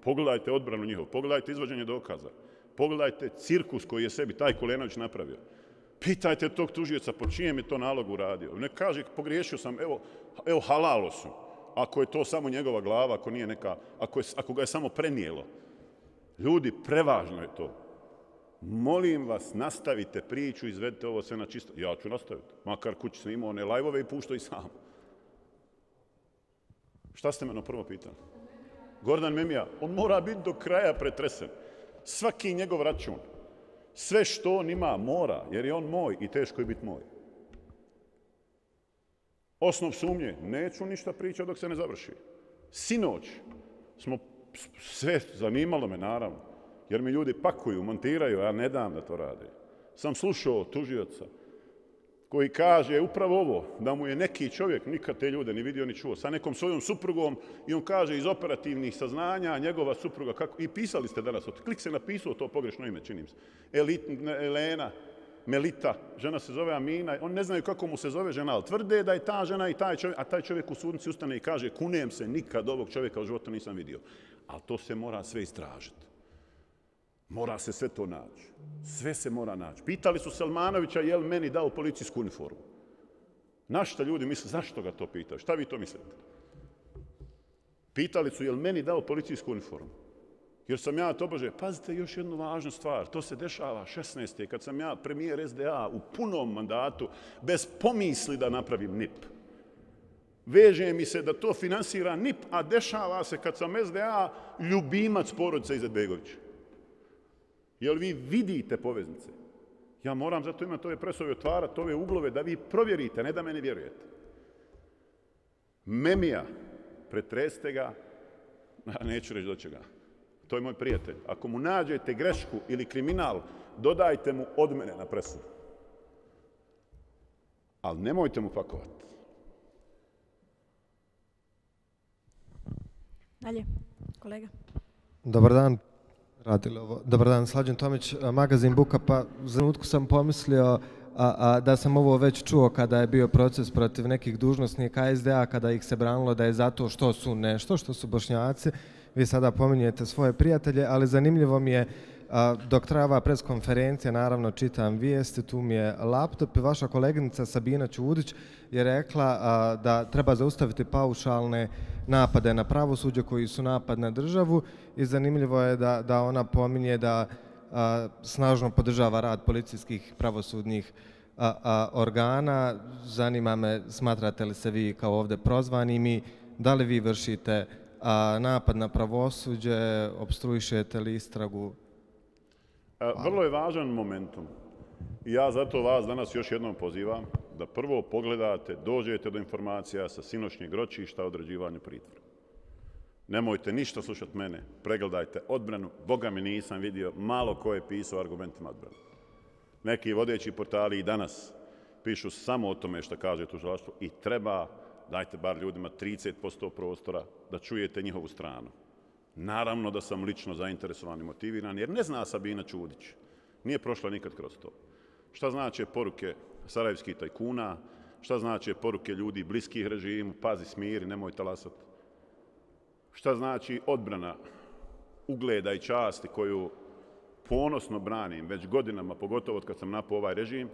Pogledajte odbranu njihov. Pogledajte izvođenje dokaza. Pogledajte cirkus koji je sebi taj Kulenović napravio. Pitajte tog tužioca po čijem je to nalogu uradio. Ne kaže, pogriješio sam, evo halalo su. Ako je to samo njegova glava, ako nije neka, ako ga je samo prenijelo. Ljudi, prevažno je to. Molim vas, nastavite priču, izvedite ovo sve na čisto. Ja ću nastaviti. Makar kući snimao one live-ove i puštao i sam. Šta ste me prvo pitali? Gordan Memija, on mora biti do kraja pretresen. Svaki njegov račun. Sve što on ima mora, jer je on moj i teško je biti moj. Osnov sumnje, neću ništa pričati dok se ne završi. Sinoć smo sve zanimalo me, naravno, jer mi ljudi pakuju, montiraju, ja ne dam da to rade. Sam slušao tužioca koji kaže upravo ovo, da mu je neki čovjek, nikad te ljude ni vidio ni čuo, sa nekom svojom suprugom i on kaže iz operativnih saznanja, njegova supruga, kako, i pisali ste danas, Klik se napisao to pogrešno ime, činim se, Elena, Melita, žena se zove Amina, oni ne znaju kako mu se zove žena, ali tvrde da je ta žena i taj čovjek, a taj čovjek u sudnici ustane i kaže kunem se, nikad ovog čovjeka u životu nisam vidio. Ali to se mora sve istražiti. Mora se sve to naći. Sve se mora naći. Pitali su Selmanovića je li meni dao policijsku uniformu. Na šta ljudi misle, zašto ga to pitaju? Šta vi to mislite? Pitali su je li meni dao policijsku uniformu. Jer sam ja tobože, pazite još jednu važnu stvar, to se dešava 16. kad sam ja premijer SDA u punom mandatu, bez pomisli da napravim NIP. Veže mi se da to finansira NIP, a dešava se kad sam SDA ljubimac porodice Izetbegovića. Jel vi vidite poveznice? Ja moram zato imati ove presove, otvarati ove uglove da vi provjerite, ne da meni vjerujete. Memija, pretresite ga, neću reći do čega. To je moj prijatelj. Ako mu nađete grešku ili kriminal, dodajte mu od mene na presudu. Ali nemojte mu pakovati. Dalje, kolega. Dobar dan. Dobar dan, Slađan Tomić, magazin Buka. Pa za trenutku sam pomislio da sam ovo već čuo kada je bio proces protiv nekih dužnosnika SDA, kada ih se branilo da je zato što su nešto, što su Bošnjaci. Vi sada pominjete svoje prijatelje, ali zanimljivo mi je, dok trajava preskonferencija, naravno čitam vijesti, tu mi je laptop i vaša koleginica Sabina Ćudić je rekla da treba zaustaviti paušalne napade na pravosuđe koji su napad na državu i zanimljivo je da ona pominje da snažno podržava rad policijskih pravosudnih organa. Zanima me, smatrate li se vi kao ovdje prozvanimi, da li vi vršite napad na pravosuđe, opstruišete li istragu? Vrlo je važan momentum. Ja zato vas danas još jednom pozivam da prvo pogledate, dođete do informacija sa sinoćnjeg ročišta o određivanju pritvora. Nemojte ništa slušati mene, pregledajte odbranu. Boga mi nisam vidio malo ko je pisao argumentima odbrane. Neki vodeći portali i danas pišu samo o tome što kaže tužilaštvo i treba, dajte bar ljudima 30% prostora da čujete njihovu stranu. Naravno da sam lično zainteresovan i motiviran, jer ne zna Sabina Ćudić. Nije prošla nikad kroz to. Šta znače poruke sarajevskih tajkuna, šta znače poruke ljudi bliskih režimu, pazi smiri, nemoj talasati. Šta znači odbrana ugleda i časti koju ponosno branim već godinama, pogotovo od kad sam napao ovaj režim.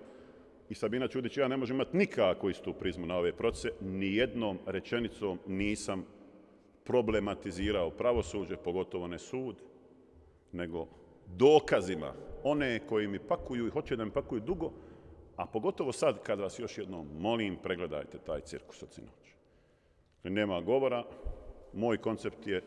I Sabina Ćudić i ja ne možemo imati nikako istu prizmu na ove procese. Nijednom rečenicom nisam problematizirao pravosuđe, pogotovo ne sud, nego dokazima. One koji mi pakuju i hoće da mi pakuju dugo, a pogotovo sad kad vas još jednom molim, pregledajte taj cirkus od sinoć. Nema govora, moj koncept je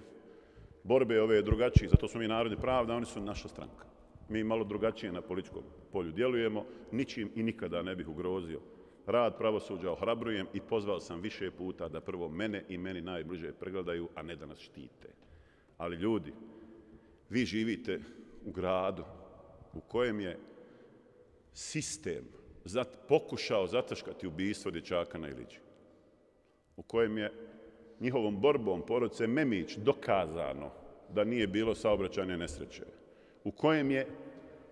borbe ove drugačiji, zato smo mi Narodni pravda, oni su naša stranka. Mi malo drugačije na političkom polju djelujemo, ničim i nikada ne bih ugrozio rad pravosuđa, ohrabrujem i pozvao sam više puta da prvo mene i meni najbliže pregledaju, a ne da nas štite. Ali ljudi, vi živite u gradu u kojem je sistem pokušao zataškati ubistvo dječaka na Iliđi, u kojem je njihovom borbom porodice Memić dokazano da nije bilo saobraćajne nesreće, u kojem je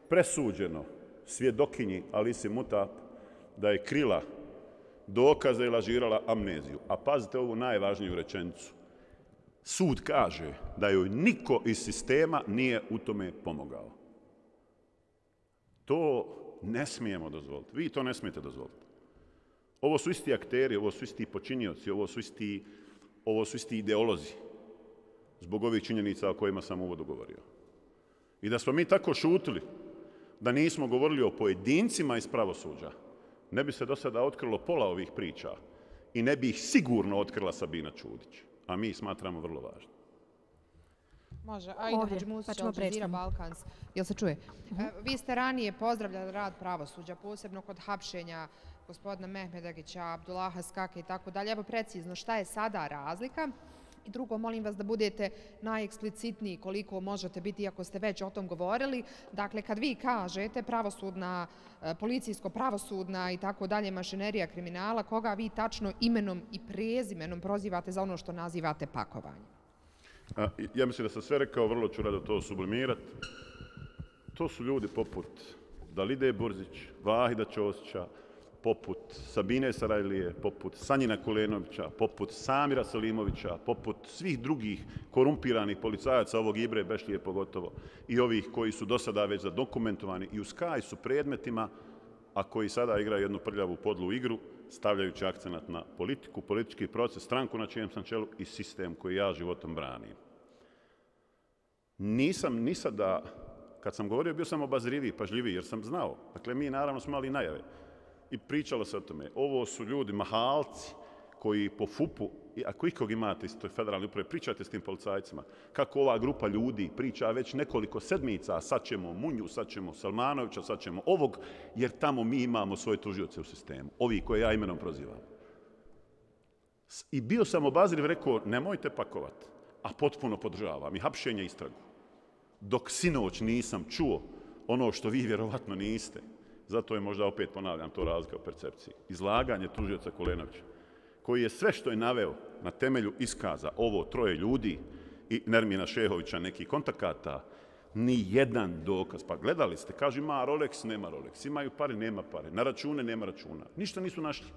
presuđeno svjedokinji Alisi Mutap da je krila dokaze i lažirala amneziju. A pazite ovu najvažniju rečenicu. Sud kaže da joj niko iz sistema nije u tome pomogao. To ne smijemo dozvoliti. Vi to ne smijete dozvoliti. Ovo su isti akteri, ovo su isti počinioci, ovo su isti ideolozi zbog ovih činjenica o kojima sam uvodu govorio. I da smo mi tako šutili, da nismo govorili o pojedincima iz pravosuđa, ne bi se do sada otkrilo pola ovih priča i ne bi ih sigurno otkrila Sabina Ćudić, a mi smatramo vrlo važno. Može, Aida Hadžimusić, Al Jazeera Balkans. Jel se čuje? Vi ste ranije pozdravljali rad pravosuđa, posebno kod hapšenja gospodina Mehmedagića, Abdullaha Skake i tako dalje. Evo precizno, šta je sada razlika? I drugo, molim vas da budete najeksplicitniji koliko možete biti, iako ste već o tom govorili. Dakle, kad vi kažete pravosudna, policijsko-pravosudna i tako dalje mašinerija kriminala, koga vi tačno imenom i prezimenom prozivate za ono što nazivate pakovanjem? Ja mislim da sam sve rekao, vrlo ću rado to sublimirati. To su ljudi poput Dalide Burzić, Vahida Ćosića, poput Sabine Sarajlije, poput Sanjina Kulenovića, poput Samira Selimovića, poput svih drugih korumpiranih policajaca, ovog Ibre Bešlije pogotovo, i ovih koji su do sada već zadokumentovani i u Skaj su predmetima, a koji sada igraju jednu prljavu podlu igru, stavljajući akcenat na politiku, politički proces, stranku na čijem sam čelu i sistem koji ja životom branim. Nisam ni sada, kad sam govorio, bio sam obazriviji, pažljiviji, jer sam znao. Dakle, mi naravno smo imali najave. I pričalo se o tome. Ovo su ljudi, mahalci, koji po FUP-u, ako ikog imate iz toj federalne uprave, pričajte s tim policajcima. Kako ova grupa ljudi priča već nekoliko sedmica, sad ćemo Munju, sad ćemo Salmanovića, sad ćemo ovog, jer tamo mi imamo svoje tužioce u sistemu. Ovi koje ja imenom prozivam. I bio sam obazriv, rekao, nemojte pakovati, a potpuno podržavam i hapšenje istragu. Dok sinoć nisam čuo ono što vi vjerovatno niste. Zato je možda opet ponavljam to razlika u percepciji. Izlaganje tužioca Kulenovića, koji je sve što je naveo na temelju iskaza ovo troje ljudi i Nermina Šehovića nekih kontakata, ni jedan dokaz. Pa gledali ste, kaže ima Rolex, nema Rolex, imaju pare, nema pare, na račune, nema računa. Ništa nisu našli.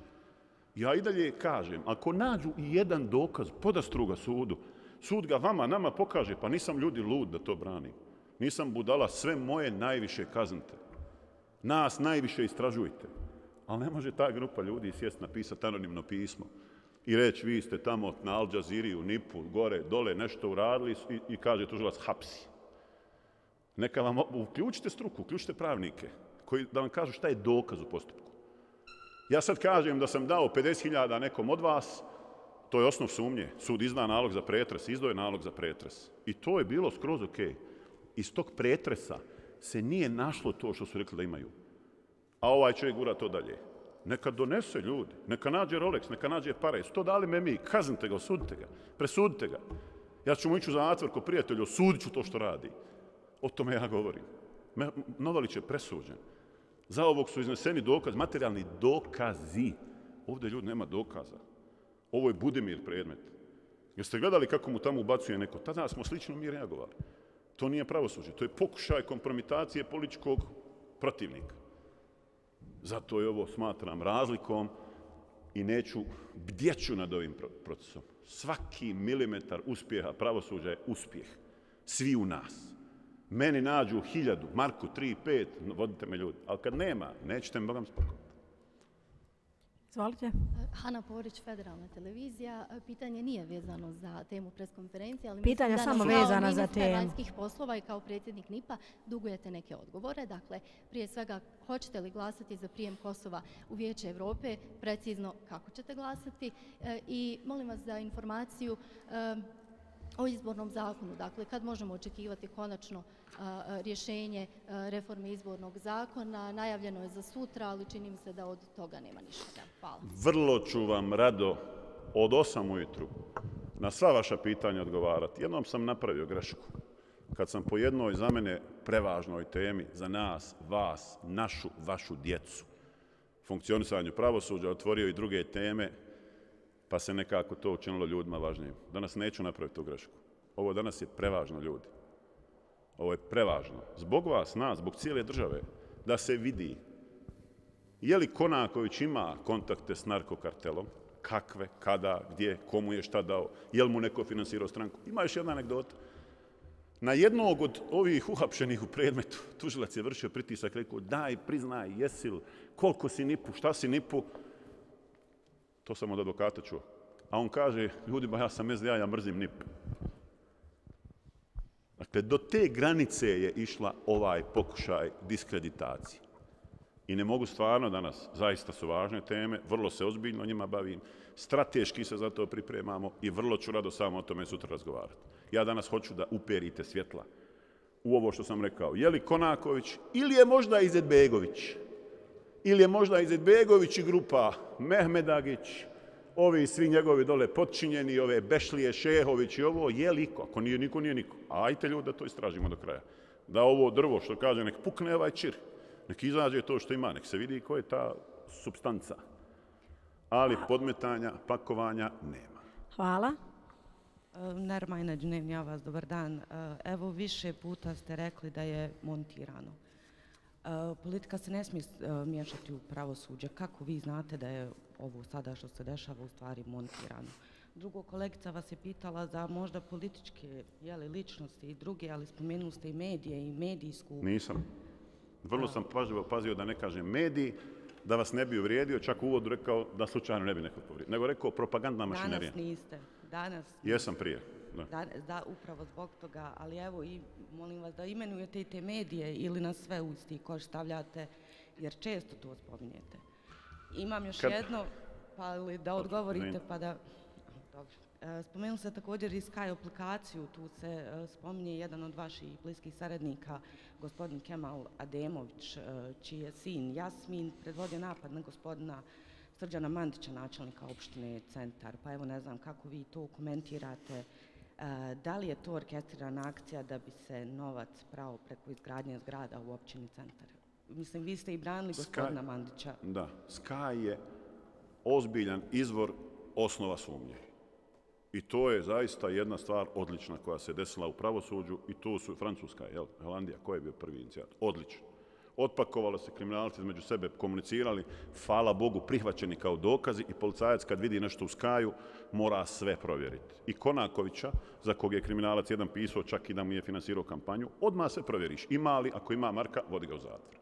Ja i dalje kažem, ako nađu i jedan dokaz, podastru ga sudu, sud ga vama, nama pokaže, pa nisam ljudi lud da to branim. Nisam budala, sve moje najviše kaznite. Nas najviše istražujte. Ali ne može ta grupa ljudi sjest napisati anonimno pismo i reći vi ste tamo na Al Jazeeri, u NIP-u, gore, dole, nešto uradili i kaže tužilac hapsi. Neka vam uključite struku, uključite pravnike koji da vam kažu šta je dokaz u postupku. Ja sad kažem da sam dao 50.000 nekom od vas, to je osnov sumnje. Sud izda nalog za pretres, izdao je nalog za pretres. I to je bilo skroz okej. Iz tog pretresa se nije našlo to što su rekli da imaju. A ovaj čovjek gura to dalje. Neka donese ljudi, neka nađe Rolex, neka nađe pare. Sto dali me mi, kaznite ga, osudite ga, presudite ga. Ja ću mu ići u zatvor ko prijatelju, osudit ću to što radi. O tome ja govorim. Novalić je presuđen. Za ovog su izneseni dokazi, materijalni dokazi. Ovdje ljudi nema dokaza. Ovo je Budimir predmet. Jeste gledali kako mu tamo ubacuje neko? Tada smo slično mi reagovali. To nije pravosuđe, to je pokušaj kompromitacije političkog protivnika. Zato je ovo smatram razlikom i bdjeću nad ovim procesom. Svaki milimetar uspjeha pravosuđa je uspjeh. Svi u nas. Meni nađu 1000, Marku 3, 5, vodite me ljudi. Ali kad nema, nećete me Bogam spakovati. Izvolite. Hana Porić, Federalna televizija. Pitanje nije vezano za temu preskonferencije, ali pitanja samo vezana za temu. Ministar vanjskih poslova i kao predsjednik NIP-a dugujete neke odgovore. Dakle, prije svega, hoćete li glasati za prijem Kosova u Vijeće Evrope? Precizno kako ćete glasati? I molim vas za informaciju o izbornom zakonu. Dakle, kad možemo očekivati konačno rješenje reforme izbornog zakona? Najavljeno je za sutra, ali čini mi se da od toga nema ništa. Hvala. Vrlo ću vam rado od 8 ujutru na sva vaša pitanja odgovarati. Jednom sam napravio grešku. Kad sam po jednoj za mene prevažnoj temi, za nas, vas, vašu djecu, funkcionisanju pravosuđa, otvorio i druge teme, pa se nekako to učinilo ljudima važnijim. Danas neću napraviti tu grešku. Ovo danas je prevažno, ljudi. Ovo je prevažno. Zbog vas, nas, zbog cijele države, da se vidi je li Konaković ima kontakte s narkokartelom, kakve, kada, gdje, komu je šta dao, je li mu neko finansirao stranku. Ima još jedna anegdota. Na jednog od ovih uhapšenih u predmetu, tužilac je vršio pritisak, rekao, daj, priznaj, jesi li, koliko si nipu, šta si nipu. To sam od advokata čuo. A on kaže, ljudima, ja sam SDA, ja mrzim NIP. Dakle, do te granice je išla ovaj pokušaj diskreditacije. I ne mogu stvarno danas, zaista su važne teme, vrlo se ozbiljno njima bavim, strateški se za to pripremamo i vrlo ću rado samo o tome sutra razgovarati. Ja danas hoću da uperite svjetla u ovo što sam rekao. Je li Konaković ili je možda Izetbegović? Ili je možda Izetbegović i grupa Mehmedagić, ovi svi njegovi dole potčinjeni, ove Bešlije, Šehović i ovo, je li iko? Ako nije niko, nije niko. Ajte ljudi da to istražimo do kraja. Da ovo drvo, što kaže, nek pukne ovaj čir. Nek izađe to što ima, nek se vidi ko je ta supstanca. Ali podmetanja, pakovanja nema. Hvala. Nermajna Džunem, ja vas, dobar dan. Evo, više puta ste rekli da je montirano. Politika se ne smije miješati u pravosuđe. Kako vi znate da je ovo sada što se dešava u stvari montirano? Drugo, kolegica vas je pitala za možda političke ličnosti i druge, ali spomenuli ste i medije i medijsku... Nisam. Vrlo sam pažljivo pazio da ne kažem mediji, da vas ne bi uvrijedio, čak u uvodu rekao da slučajno ne bi neko povrijedio. Nego rekao propagandna mašinerija. Danas niste. Jesam prije. Da, upravo zbog toga, ali evo i molim vas da imenujete i te medije ili na sve u isti koš stavljate, jer često to spominjete. Imam još jedno, pa li da odgovorite pa da... Dobro. Spomenuli ste također i Sky aplikaciju, tu se spominje jedan od vaših bliskih saradnika, gospodin Kemal Ademović, čiji je sin Jasmin predvodio napad na gospodina Srđana Mandića, načelnika opštine Centar. Pa evo ne znam kako vi to komentirate. Da li je to orkestrirana akcija da bi se novac prao preko izgradnje zgrada u općini Centar? Mislim, vi ste i branili gospodina Mandića. Da, Sky je ozbiljan izvor osnova sumnje. I to je zaista jedna stvar odlična koja se desila u pravosuđu i to su Francuska, Holandija, ko je bio prvi inicijat? Odlično. Otpakovalo se, kriminalci između sebe komunicirali, hvala Bogu, prihvaćeni kao dokazi i policajac kad vidi nešto u Skaju mora sve provjeriti. I Konakovića, za kog je kriminalac jedan pisao, čak i da mu je finansirao kampanju, odmah sve provjeriš. Ima li, ako ima marka, vodi ga u zatvor.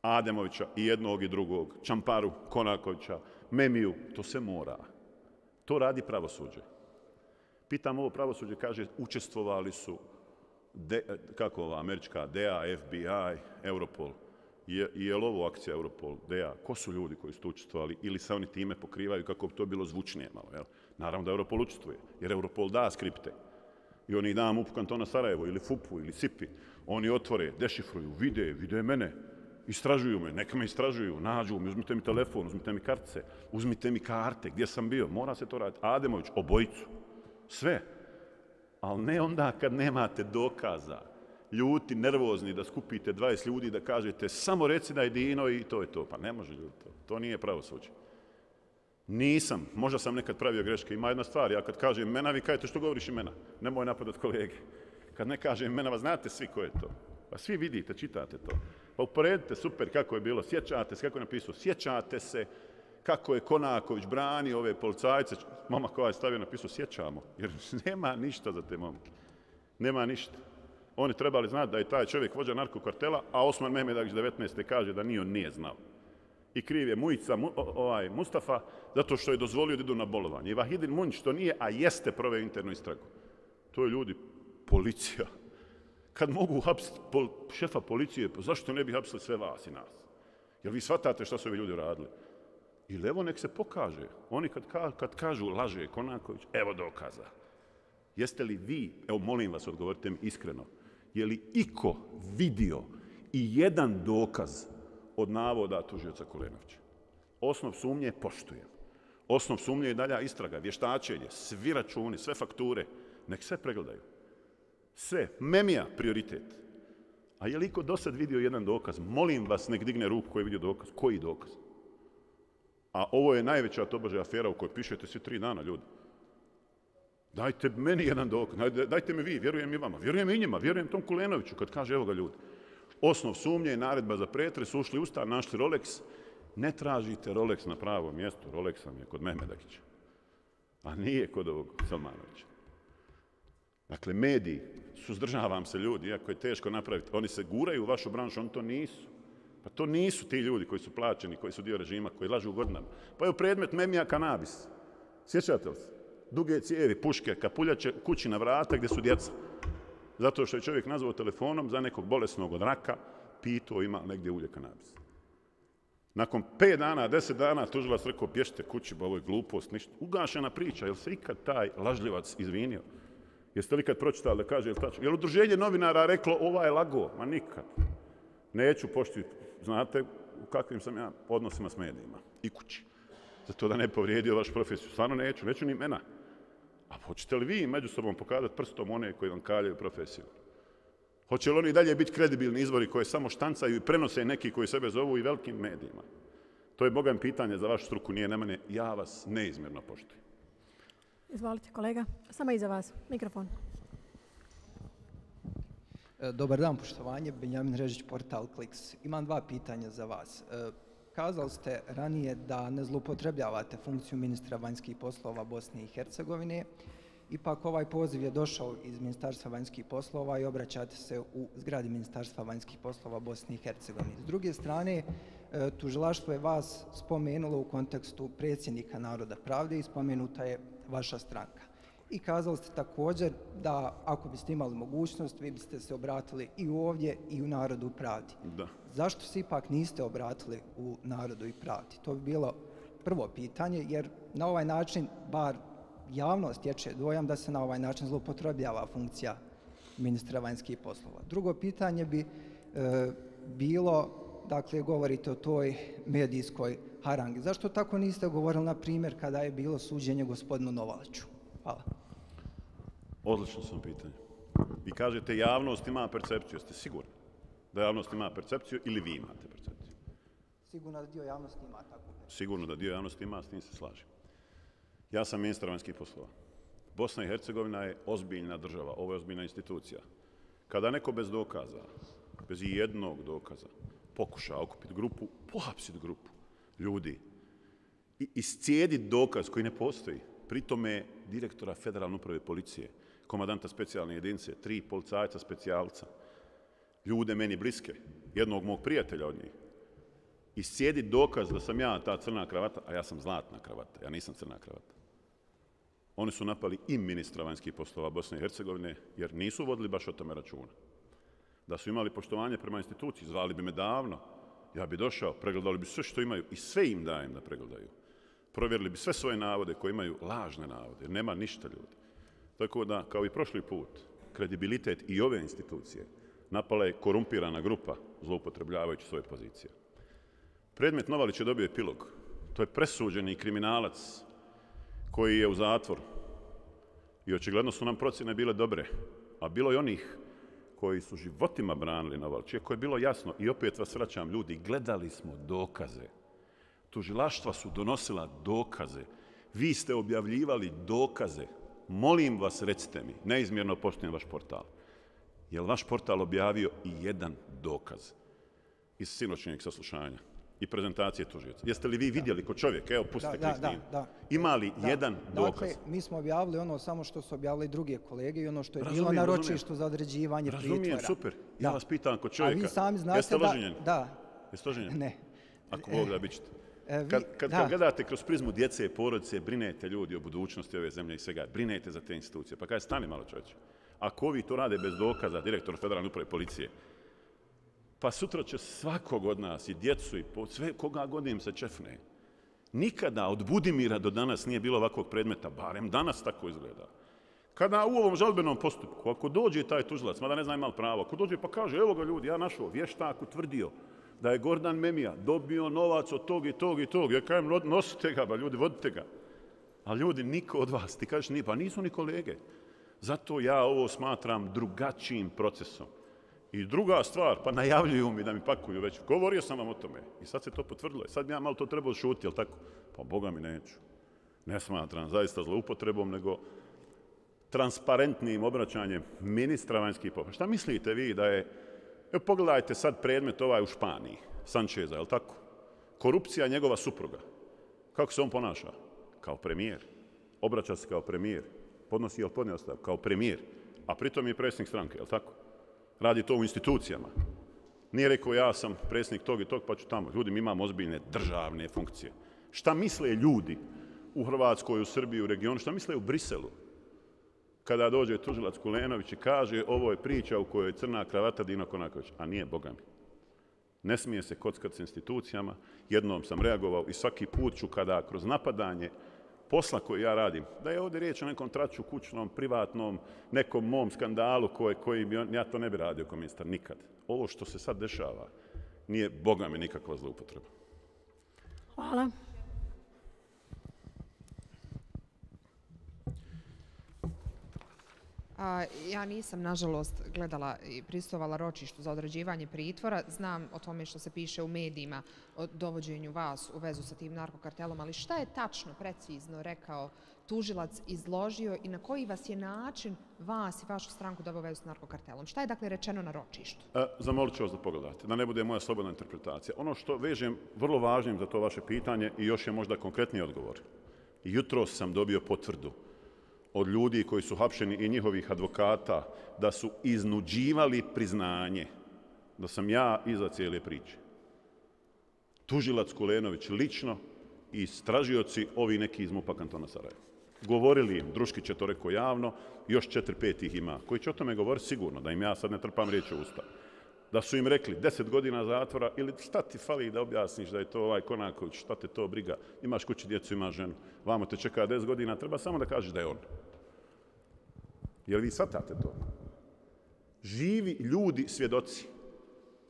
Ademovića i jednog i drugog, Čamparu, Konakovića, Memiju, to se mora. To radi pravosuđe. Pitam ovo pravosuđe, kaže, učestvovali su kako ova američka DEA, FBI, Europol. Je li ovo akcija Europol, DEA? Ko su ljudi koji su tu učestvovali ili se oni time pokrivaju kako bi to bilo zvučnije malo? Jel? Naravno da Europol učestvuje, jer Europol da skripte. I oni da MUP kantona Sarajevo ili FUP-u ili SIP-i. Oni otvore, dešifruju, vide mene. Istražuju me, neka me istražuju, nađu me, uzmite mi telefon, uzmite mi kartice, uzmite mi karte, gdje sam bio, mora se to raditi. Ademović, obojicu, sve. Ali ne onda kad nemate dokaza, ljuti, nervozni, da skupite 20 ljudi da kažete samo reci da je Dino i to je to. Pa ne može ljudi to. To nije pravosuđe. Nisam, možda sam nekad pravio greške. Ima jedna stvar, ja kad kažem imena, vi kažete što govoriš imena. Nemoj napadat kolege. Kad ne kažem imena, vas znate svi ko je to. Pa svi vidite, čitate to. Pa uporedite, super, kako je bilo, sjećate se, kako je napisao, sjećate se kako je Konaković branio ove policajce. Momak koja je stavio napisao, sjećamo, jer nema ništa za te momke. Nema ništa. Oni trebali znati da je taj čovjek vođa narkokartela, a Osman Mehmedagić 19. kaže da ni on nije znao. I kriv je Mujica Mustafa zato što je dozvolio da idu na bolovanje. I Vahidin Munjić to nije, a jeste proveo internu istragu. To je ljudi, policija. Kad mogu hapsiti šefa policije, zašto ne bi hapsili sve vas i nas? Jer vi shvatate šta su ovi ljudi radili? Ili evo nek se pokaže. Oni kad kažu laže Konaković, evo dokaza. Jeste li vi, evo molim vas odgovorite mi iskreno, je li iko vidio i jedan dokaz od navoda tužioca Kulenovića? Osnov sumnje poštujem. Osnov sumnje je dalja istraga, vještačenje, svi računi, sve fakture, nek sve pregledaju. Sve, memija prioritet. A je li iko do sad vidio jedan dokaz? Molim vas nek digne ruku koji je vidio dokaz. Koji dokaz? A ovo je najveća tobože afera u kojoj pišete svi 3 dana, ljudi. Dajte meni jedan dokaz, dajte mi vi, vjerujem i vama, vjerujem i njima, vjerujem tom Kulenoviću kad kaže evo ga ljudi. Osnov sumnje je naredba za pretres, ušli u stan, našli Rolex. Ne tražite Rolex na pravom mjestu, Rolex vam je kod Mehmedagića, a nije kod ovog Salmanovića. Dakle, mediji, suzdržavam se ljudi, iako je teško napraviti, oni se guraju u vašu branšu, oni to nisu. Pa to nisu ti ljudi koji su plaćeni, koji su dio režima, koji lažu godinama. Pa je predmet memija kanabis. Sjećate li se? Duge cijevi, puške, kapuljače, kući na vrata gdje su djeca. Zato što je čovjek nazvao telefonom za nekog bolesnog od raka, pitao ima negdje ulje kanabis. Nakon 5 dana, 10 dana, tužilac rekao, pješite kući, ba ovo je glupost, ništa. Ugašena priča, je li se ikad taj lažljivac izvinio? Jeste li ikad pročitali da kaže, je li udruženje novinara reklo, ova je lago? Ma nikad. Neću pošti, znate u kakvim sam ja odnosima s medijima i kući. Zato da ne povrijedio vašu profesiju. Stvarno neću ni imena. A hoćete li vi među sobom pokazati prstom one koji vam kaljaju profesiju? Hoće li oni dalje biti kredibilni izvori koje samo štancaju i prenose neki koji sebe zovu i velikim medijima? To je bogan pitanje za vašu struku, nije na mene. Ja vas neizmjerno poštujem. Izvolite kolega, samo iza vas, mikrofon. Dobar dan, poštovanje, Benjamin Režić, portal Kliks. Imam 2 pitanja za vas. Kazali ste ranije da ne zloupotrebljavate funkciju ministra vanjskih poslova Bosne i Hercegovine. Ipak ovaj poziv je došao iz Ministarstva vanjskih poslova i obraćate se u zgradi Ministarstva vanjskih poslova Bosne i Hercegovine. S druge strane, tužilaštvo je vas spomenulo u kontekstu predsjednika Naroda pravde i spomenuta je vaša stranka. I kazali ste također da ako biste imali mogućnost, vi biste se obratili i ovdje i u Narodu pravdi. Da. Zašto se ipak niste obratili u Narodu i pravdi? To bi bilo prvo pitanje, jer na ovaj način, bar javnost stječe dojam da se na ovaj način zloupotrebljava funkcija ministra vanjskih poslova. Drugo pitanje bi bilo, dakle, govorite o toj medijskoj harangi. Zašto tako niste govorili, na primjer, kada je bilo suđenje gospodinu Novaliću? Hvala. Odlično sam pitanje. Vi kažete javnost ima percepciju. Jeste sigurni da javnost ima percepciju ili vi imate percepciju? Sigurno da dio javnosti ima takvu percepciju. Sigurno da dio javnosti ima, s tim se slažem. Ja sam ministar vanjskih poslova. Bosna i Hercegovina je ozbiljna država, ovo je ozbiljna institucija. Kada neko bez dokaza, bez jednog dokaza, pokuša okupiti grupu, pohapsiti grupu ljudi i iscijediti dokaz koji ne postoji, pritome direktora Federalne uprave policije, komandanta specijalne jedinice, 3 policajca specijalca, ljude meni bliske, jednog mog prijatelja od njih, iscijediti dokaz da sam ja ta crna kravata, a ja sam zlatna kravata, ja nisam crna kravata. Oni su napali i ministra vanjskih poslova Bosne i Hercegovine, jer nisu vodili baš o tome računa. Da su imali poštovanje prema instituciji, zvali bi me davno, ja bi došao, pregledali bi sve što imaju i sve im dajem da pregledaju. Provjerili bi sve svoje navode koji imaju lažne navode, jer nema ništa ljudi. Tako da, kao i prošli put, kredibilitet i ove institucije Napala je korumpirana grupa, zloupotrebljavajući svoje pozicije. Predmet Novalić je dobio epilog. To je presuđeni kriminalac koji je u zatvoru. I očigledno su nam procjene bile dobre. A bilo je onih koji su životima branili Novalić. Iako je bilo jasno, i opet vas vraćam ljudi, gledali smo dokaze. Tužilaštva su donosila dokaze. Vi ste objavljivali dokaze. Molim vas, recite mi, neizmjerno poštujem vaš portal. Je li vaš portal objavio i jedan dokaz iz sinoćnjeg saslušanja i prezentacije tužioca? Jeste li vi vidjeli ko čovjek? Evo, pustite Kristinu. Ima li jedan dokaz? Dakle, mi smo objavili ono samo što su objavili druge kolege i ono što je bilo na ročištu za određivanje pritvora. Razumijem, super. Ja vas pitam ko čovjeka. A vi sami znate jeste loženjeni? Da. Jeste loženjeni? Ne. Ako Bog da, bit ćete. Kad gledate kroz prizmu djece i porodice, brinete ljudi o budućnosti ove zemlje i svega, brinete za te institucije. Pa kaj, stani malo čovječe. Ako ovi to rade bez dokaza, direktor Federalne uprave policije, pa sutra će svakog od nas, i djecu, i sve koga god im se čefne. Nikada od Budimira do danas nije bilo ovakvog predmeta, barem danas tako izgleda. Kada u ovom žalbenom postupku, ako dođe taj tužilac, mada ne zna ima li pravo, ako dođe pa kaže, evo ga ljudi, ja našao, vještak utvrdio da je Gordan Memija dobio novac od tog i tog i tog, ja kažem, nosite ga, ba ljudi, vodite ga. A ljudi, niko od vas, ti kažeš, pa nisu ni kolege. Zato ja ovo smatram drugačijim procesom. I druga stvar, pa najavljuju mi da mi pakuju već. Govorio sam vam o tome i sad se to potvrdilo. Sad bi ja malo to trebalo šuti, jel tako? Pa Boga mi neću. Ne smatram zaista zloupotrebom, nego transparentnim obraćanjem ministra vanjskih poslova. Šta mislite vi da je... Evo pogledajte sad predmet ovaj u Španiji, Sančeza, jel tako? Korupcija njegova supruga. Kako se on ponaša? Kao premijer. Obraća se kao premijer. Podnosi ili podnio ostavku kao premijer, a pritom je predsjednik stranke, jel tako? Radi to u institucijama. Nije rekao ja sam predsjednik tog i tog, pa ću tamo. Ljudi, mi imamo ozbiljne državne funkcije. Šta misle ljudi u Hrvatskoj, u Srbiji, u regionu, šta misle u Briselu? Kada dođe tužilac Kulenović i kaže ovo je priča u kojoj je crna kravata Dino Konaković, a nije, Boga mi. Ne smije se kockati s institucijama. Jednom sam reagovao i svaki put ću kada kroz napadanje posla koji ja radim, da je ovdje riječ o nekom traču kućnom, privatnom, nekom mom skandalu koji bi ja to ne bi radio kao ministar nikad. Ovo što se sad dešava nije, Boga mi, nikakva zloupotreba. Hvala. Ja nisam, nažalost, gledala i pristovala ročištu za određivanje pritvora. Znam o tome što se piše u medijima o dovođenju vas u vezu sa tim narkokartelom, ali šta je tačno, precizno rekao tužilac, izložio i na koji vas je način vas i vašu stranku doveo u vezu s narkokartelom? Šta je dakle rečeno na ročištu? Zamolit ću vas da pogledate, da ne bude moja slobodna interpretacija. Ono što vežem vrlo važnim za to vaše pitanje i još je možda konkretniji odgovor. Jutros sam dobio potvrdu od ljudi koji su hapšeni i njihovih advokata, da su iznuđivali priznanje da sam ja iza cijele priče. Tužilac Kulenović lično i istražioci ovi neki iz MUP-a kantona Sarajeva. Govorili im, Druškić je to rekao javno, još 4-5 ih ima, koji će o tome govoriti sigurno, da im ja sad ne trpam riječ u usta. Da su im rekli 10 godina zatvora ili šta ti fali da objasniš da je to ovaj Konaković, šta te to briga, imaš kući djecu, imaš ženu, vamo te čeka 10 godina, treba samo da kažeš da je on. Jel vi shvatate to? Živi ljudi, svjedoci.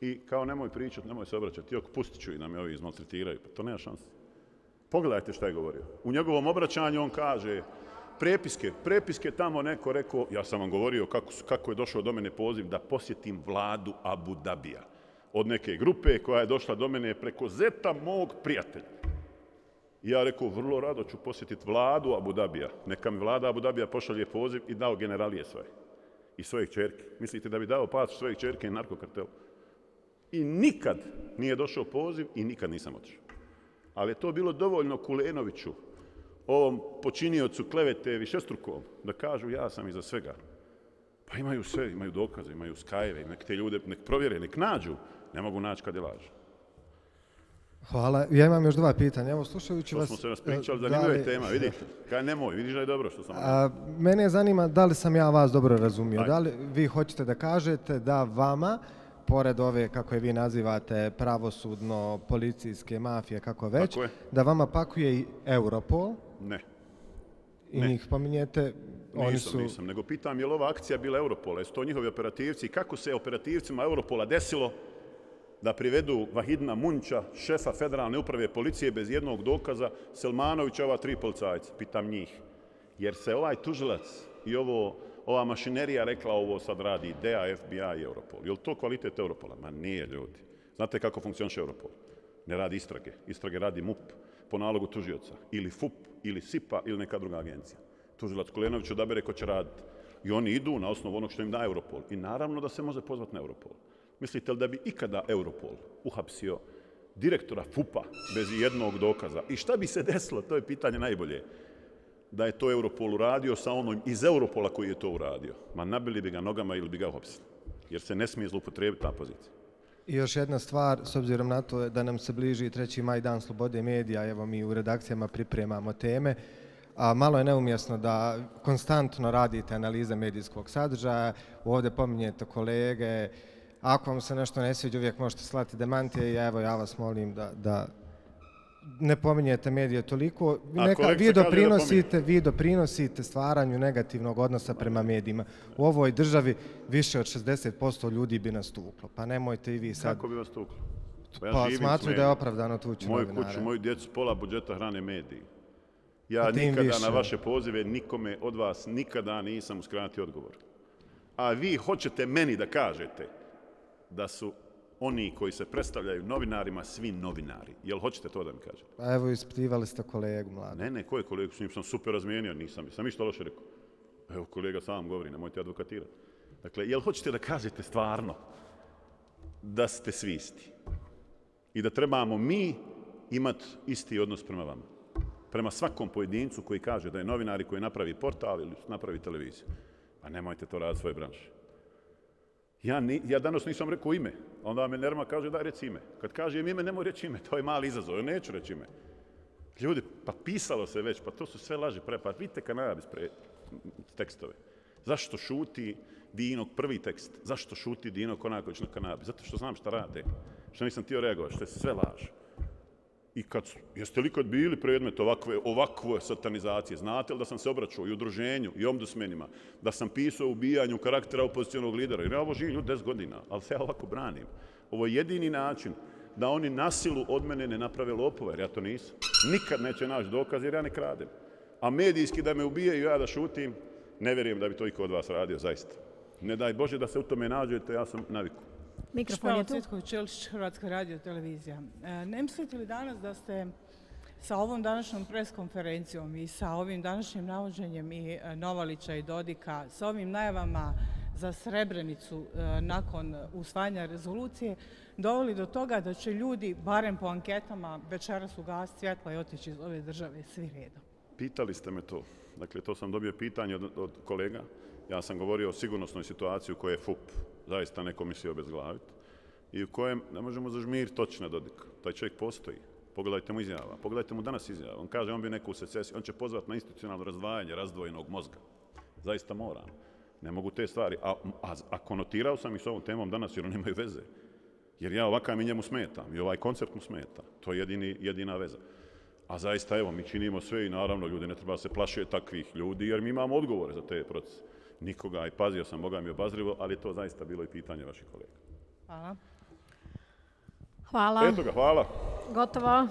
I kao nemoj pričati, nemoj se obraćati, jok, pustit ću i da me ovi izmaltretiraju, pa to nema šanse. Pogledajte šta je govorio. U njegovom obraćanju on kaže prepiske tamo neko rekao, ja sam vam govorio kako je došao do mene poziv da posjetim vladu Abu Dabija. Od neke grupe koja je došla do mene preko zeta mog prijatelja. I ja rekao, vrlo rado ću posjetiti vladu Abu Dabija. Neka mi vlada Abu Dabija pošalje poziv i dao generalije svoje. I svoje kćerke. Mislite da bi dao pač svoje kćerke i narkokartelu? I nikad nije došao poziv i nikad nisam otišao. Ali je to bilo dovoljno Kulenoviću, ovom počiniocu klevete višestrukom, da kažu ja sam iza svega. Pa imaju sve, imaju dokaze, imaju skajeve, nek te ljude nek provjere, nek nađu. Ne mogu naći kad je laže. Hvala. Ja imam još dva pitanja. Evo, slušajući vas... To smo se raspričali, zanimljiva je tema, vidite. Kaj nemoj, vidiš da je dobro što sam... Mene zanima da li sam ja vas dobro razumio. Da li vi hoćete da kažete da vama, pored ove, kako je vi nazivate, pravosudno, policijske, mafije, kako već, da vama pakuje i Europol? Ne. I njih pominjete Nisam, nego pitam je li ova akcija bila Europola, jesu to njihovi operativci i kako se operativcima Europola desilo da privedu Vahidina Munča, šefa federalne uprave policije bez jednog dokaza, Selmanovića, ova 3 policajca, pitam njih. Jer se ovaj tužilac i ova mašinerija rekla ovo sad radi DEA, FBI i Europol. Je li to kvalitet Europola? Ma nije, ljudi. Znate kako funkcioniše Europol? Ne radi istrage. Istrage radi MUP po nalogu tužioca. Ili FUP, ili SIPA, ili neka druga agencija. Tužilac Kulenović odabere ko će raditi. I oni idu na osnovu onog što im da Europol. I naravno da se može pozvati na Europol. Mislite li da bi ikada Europol uhapsio direktora FUP-a bez jednog dokaza? I šta bi se desilo? To je pitanje najbolje. Da je to Europol uradio sa onom iz Europola koji je to uradio. Ma nabili bi ga nogama ili bi ga uhapsili. Jer se ne smije zloupotrijebiti ta pozicija. I još jedna stvar, s obzirom na to da nam se bliži 3. maj, dan slobode medija, evo mi u redakcijama pripremamo teme, a malo je neumjesno da konstantno radite analize medijskog sadržaja, ovdje pominjete kolege, ako vam se nešto ne sviđa, uvijek možete slati demantije i evo ja vas molim da ne pominjete medije toliko. Vi doprinosite stvaranju negativnog odnosa prema medijima. U ovoj državi više od 60% ljudi bi nas tuklo. Pa nemojte i vi sad... Kako bi vas tuklo? Pa smatruju da je opravdano tući novinare. Moju kuću, moju djecu, pola budžeta hrane mediji. Ja nikada na vaše pozive nikome od vas nikada nisam uskratio odgovor. A vi hoćete meni da kažete da su oni koji se predstavljaju novinarima, svi novinari. Jel hoćete to da mi kažete? Pa evo, ispitivali ste kolegu mlada. Ne, ko je kolegu? S njim sam super razmijenio, nisam ništa loše rekao. Evo, kolega sam govori, nemojte advokatirati. Dakle, jel hoćete da kažete stvarno da ste svi isti? I da trebamo mi imati isti odnos prema vama? Prema svakom pojedincu koji kaže da je novinar i koji napravi portal ili napravi televiziju. Pa nemojte to raditi svoje branše. Ja danas nisam rekao ime. Onda me Nerma kaže daj reci ime. Kad kažem ime, nemoj reći ime. To je mali izazov. Ja neću reći ime. Ljudi, pa pisalo se već, pa to su sve laži. Pa vidite kanabis tekstove. Zašto šuti Dino prvi tekst? Zašto šuti Dino Konaković na kanabis? Zato što znam šta rade. Što nisam htio reagovati. Što je sve laž. I jeste li kad bili predmet ovakve satanizacije? Znate li da sam se obraćao i udruženju i ombudsmenima, da sam pisao o ubijanju karaktera opozicionog lidera? Jer ja ovo živim ljudi 10 godina, ali se ja ovako branim. Ovo je jedini način da oni na silu od mene ne naprave lopove, jer ja to nisam. Nikad neće naći dokaz jer ja ne kradem. A medijski da me ubijaju ja da šutim, ne vjerujem da bi to iko od vas radio, zaista. Ne daj Bože da se u tome nađete, ja sam naviku. Špela Cvjetković-Čelić, Hrvatska radio televizija. Ne mislite li danas da ste sa ovom današnjom preskonferencijom i sa ovim današnjim navođenjem i Novalića i Dodika, sa ovim najavama za Srebrenicu nakon usvajanja rezolucije, doveli do toga da će ljudi, barem po anketama, večeras ugasiti svjetla i otići iz ove države svi redom? Pitali ste me to. Dakle, to sam dobio pitanje od kolega. Ja sam govorio o sigurnosnoj situaciji u kojoj je FUP zaista neko mislio obezglaviti i u kojem ne možemo zažmiriti točno Dodika. Taj čovjek postoji. Pogledajte mu izjava. Pogledajte mu danas izjava. On kaže on bi neku secesiju. On će pozvati na institucionalno razdvajanje razdvojenog mozga. Zaista moram. Ne mogu te stvari. A konotirao sam ih s ovom temom danas jer oni imaju veze. Jer ja ovakav mi njemu smetam i ovaj koncept mu smeta. To je jedina veza. A zaista evo mi činimo sve i naravno ljudi ne treba se plašiti takvih ljudi jer mi imamo odgovore za te procese. Nikoga i pazio sam, Boga mi obazrivo, ali je to zaista bilo i pitanje vaših kolega. Hvala. Hvala. Eto ga, hvala. Gotovo.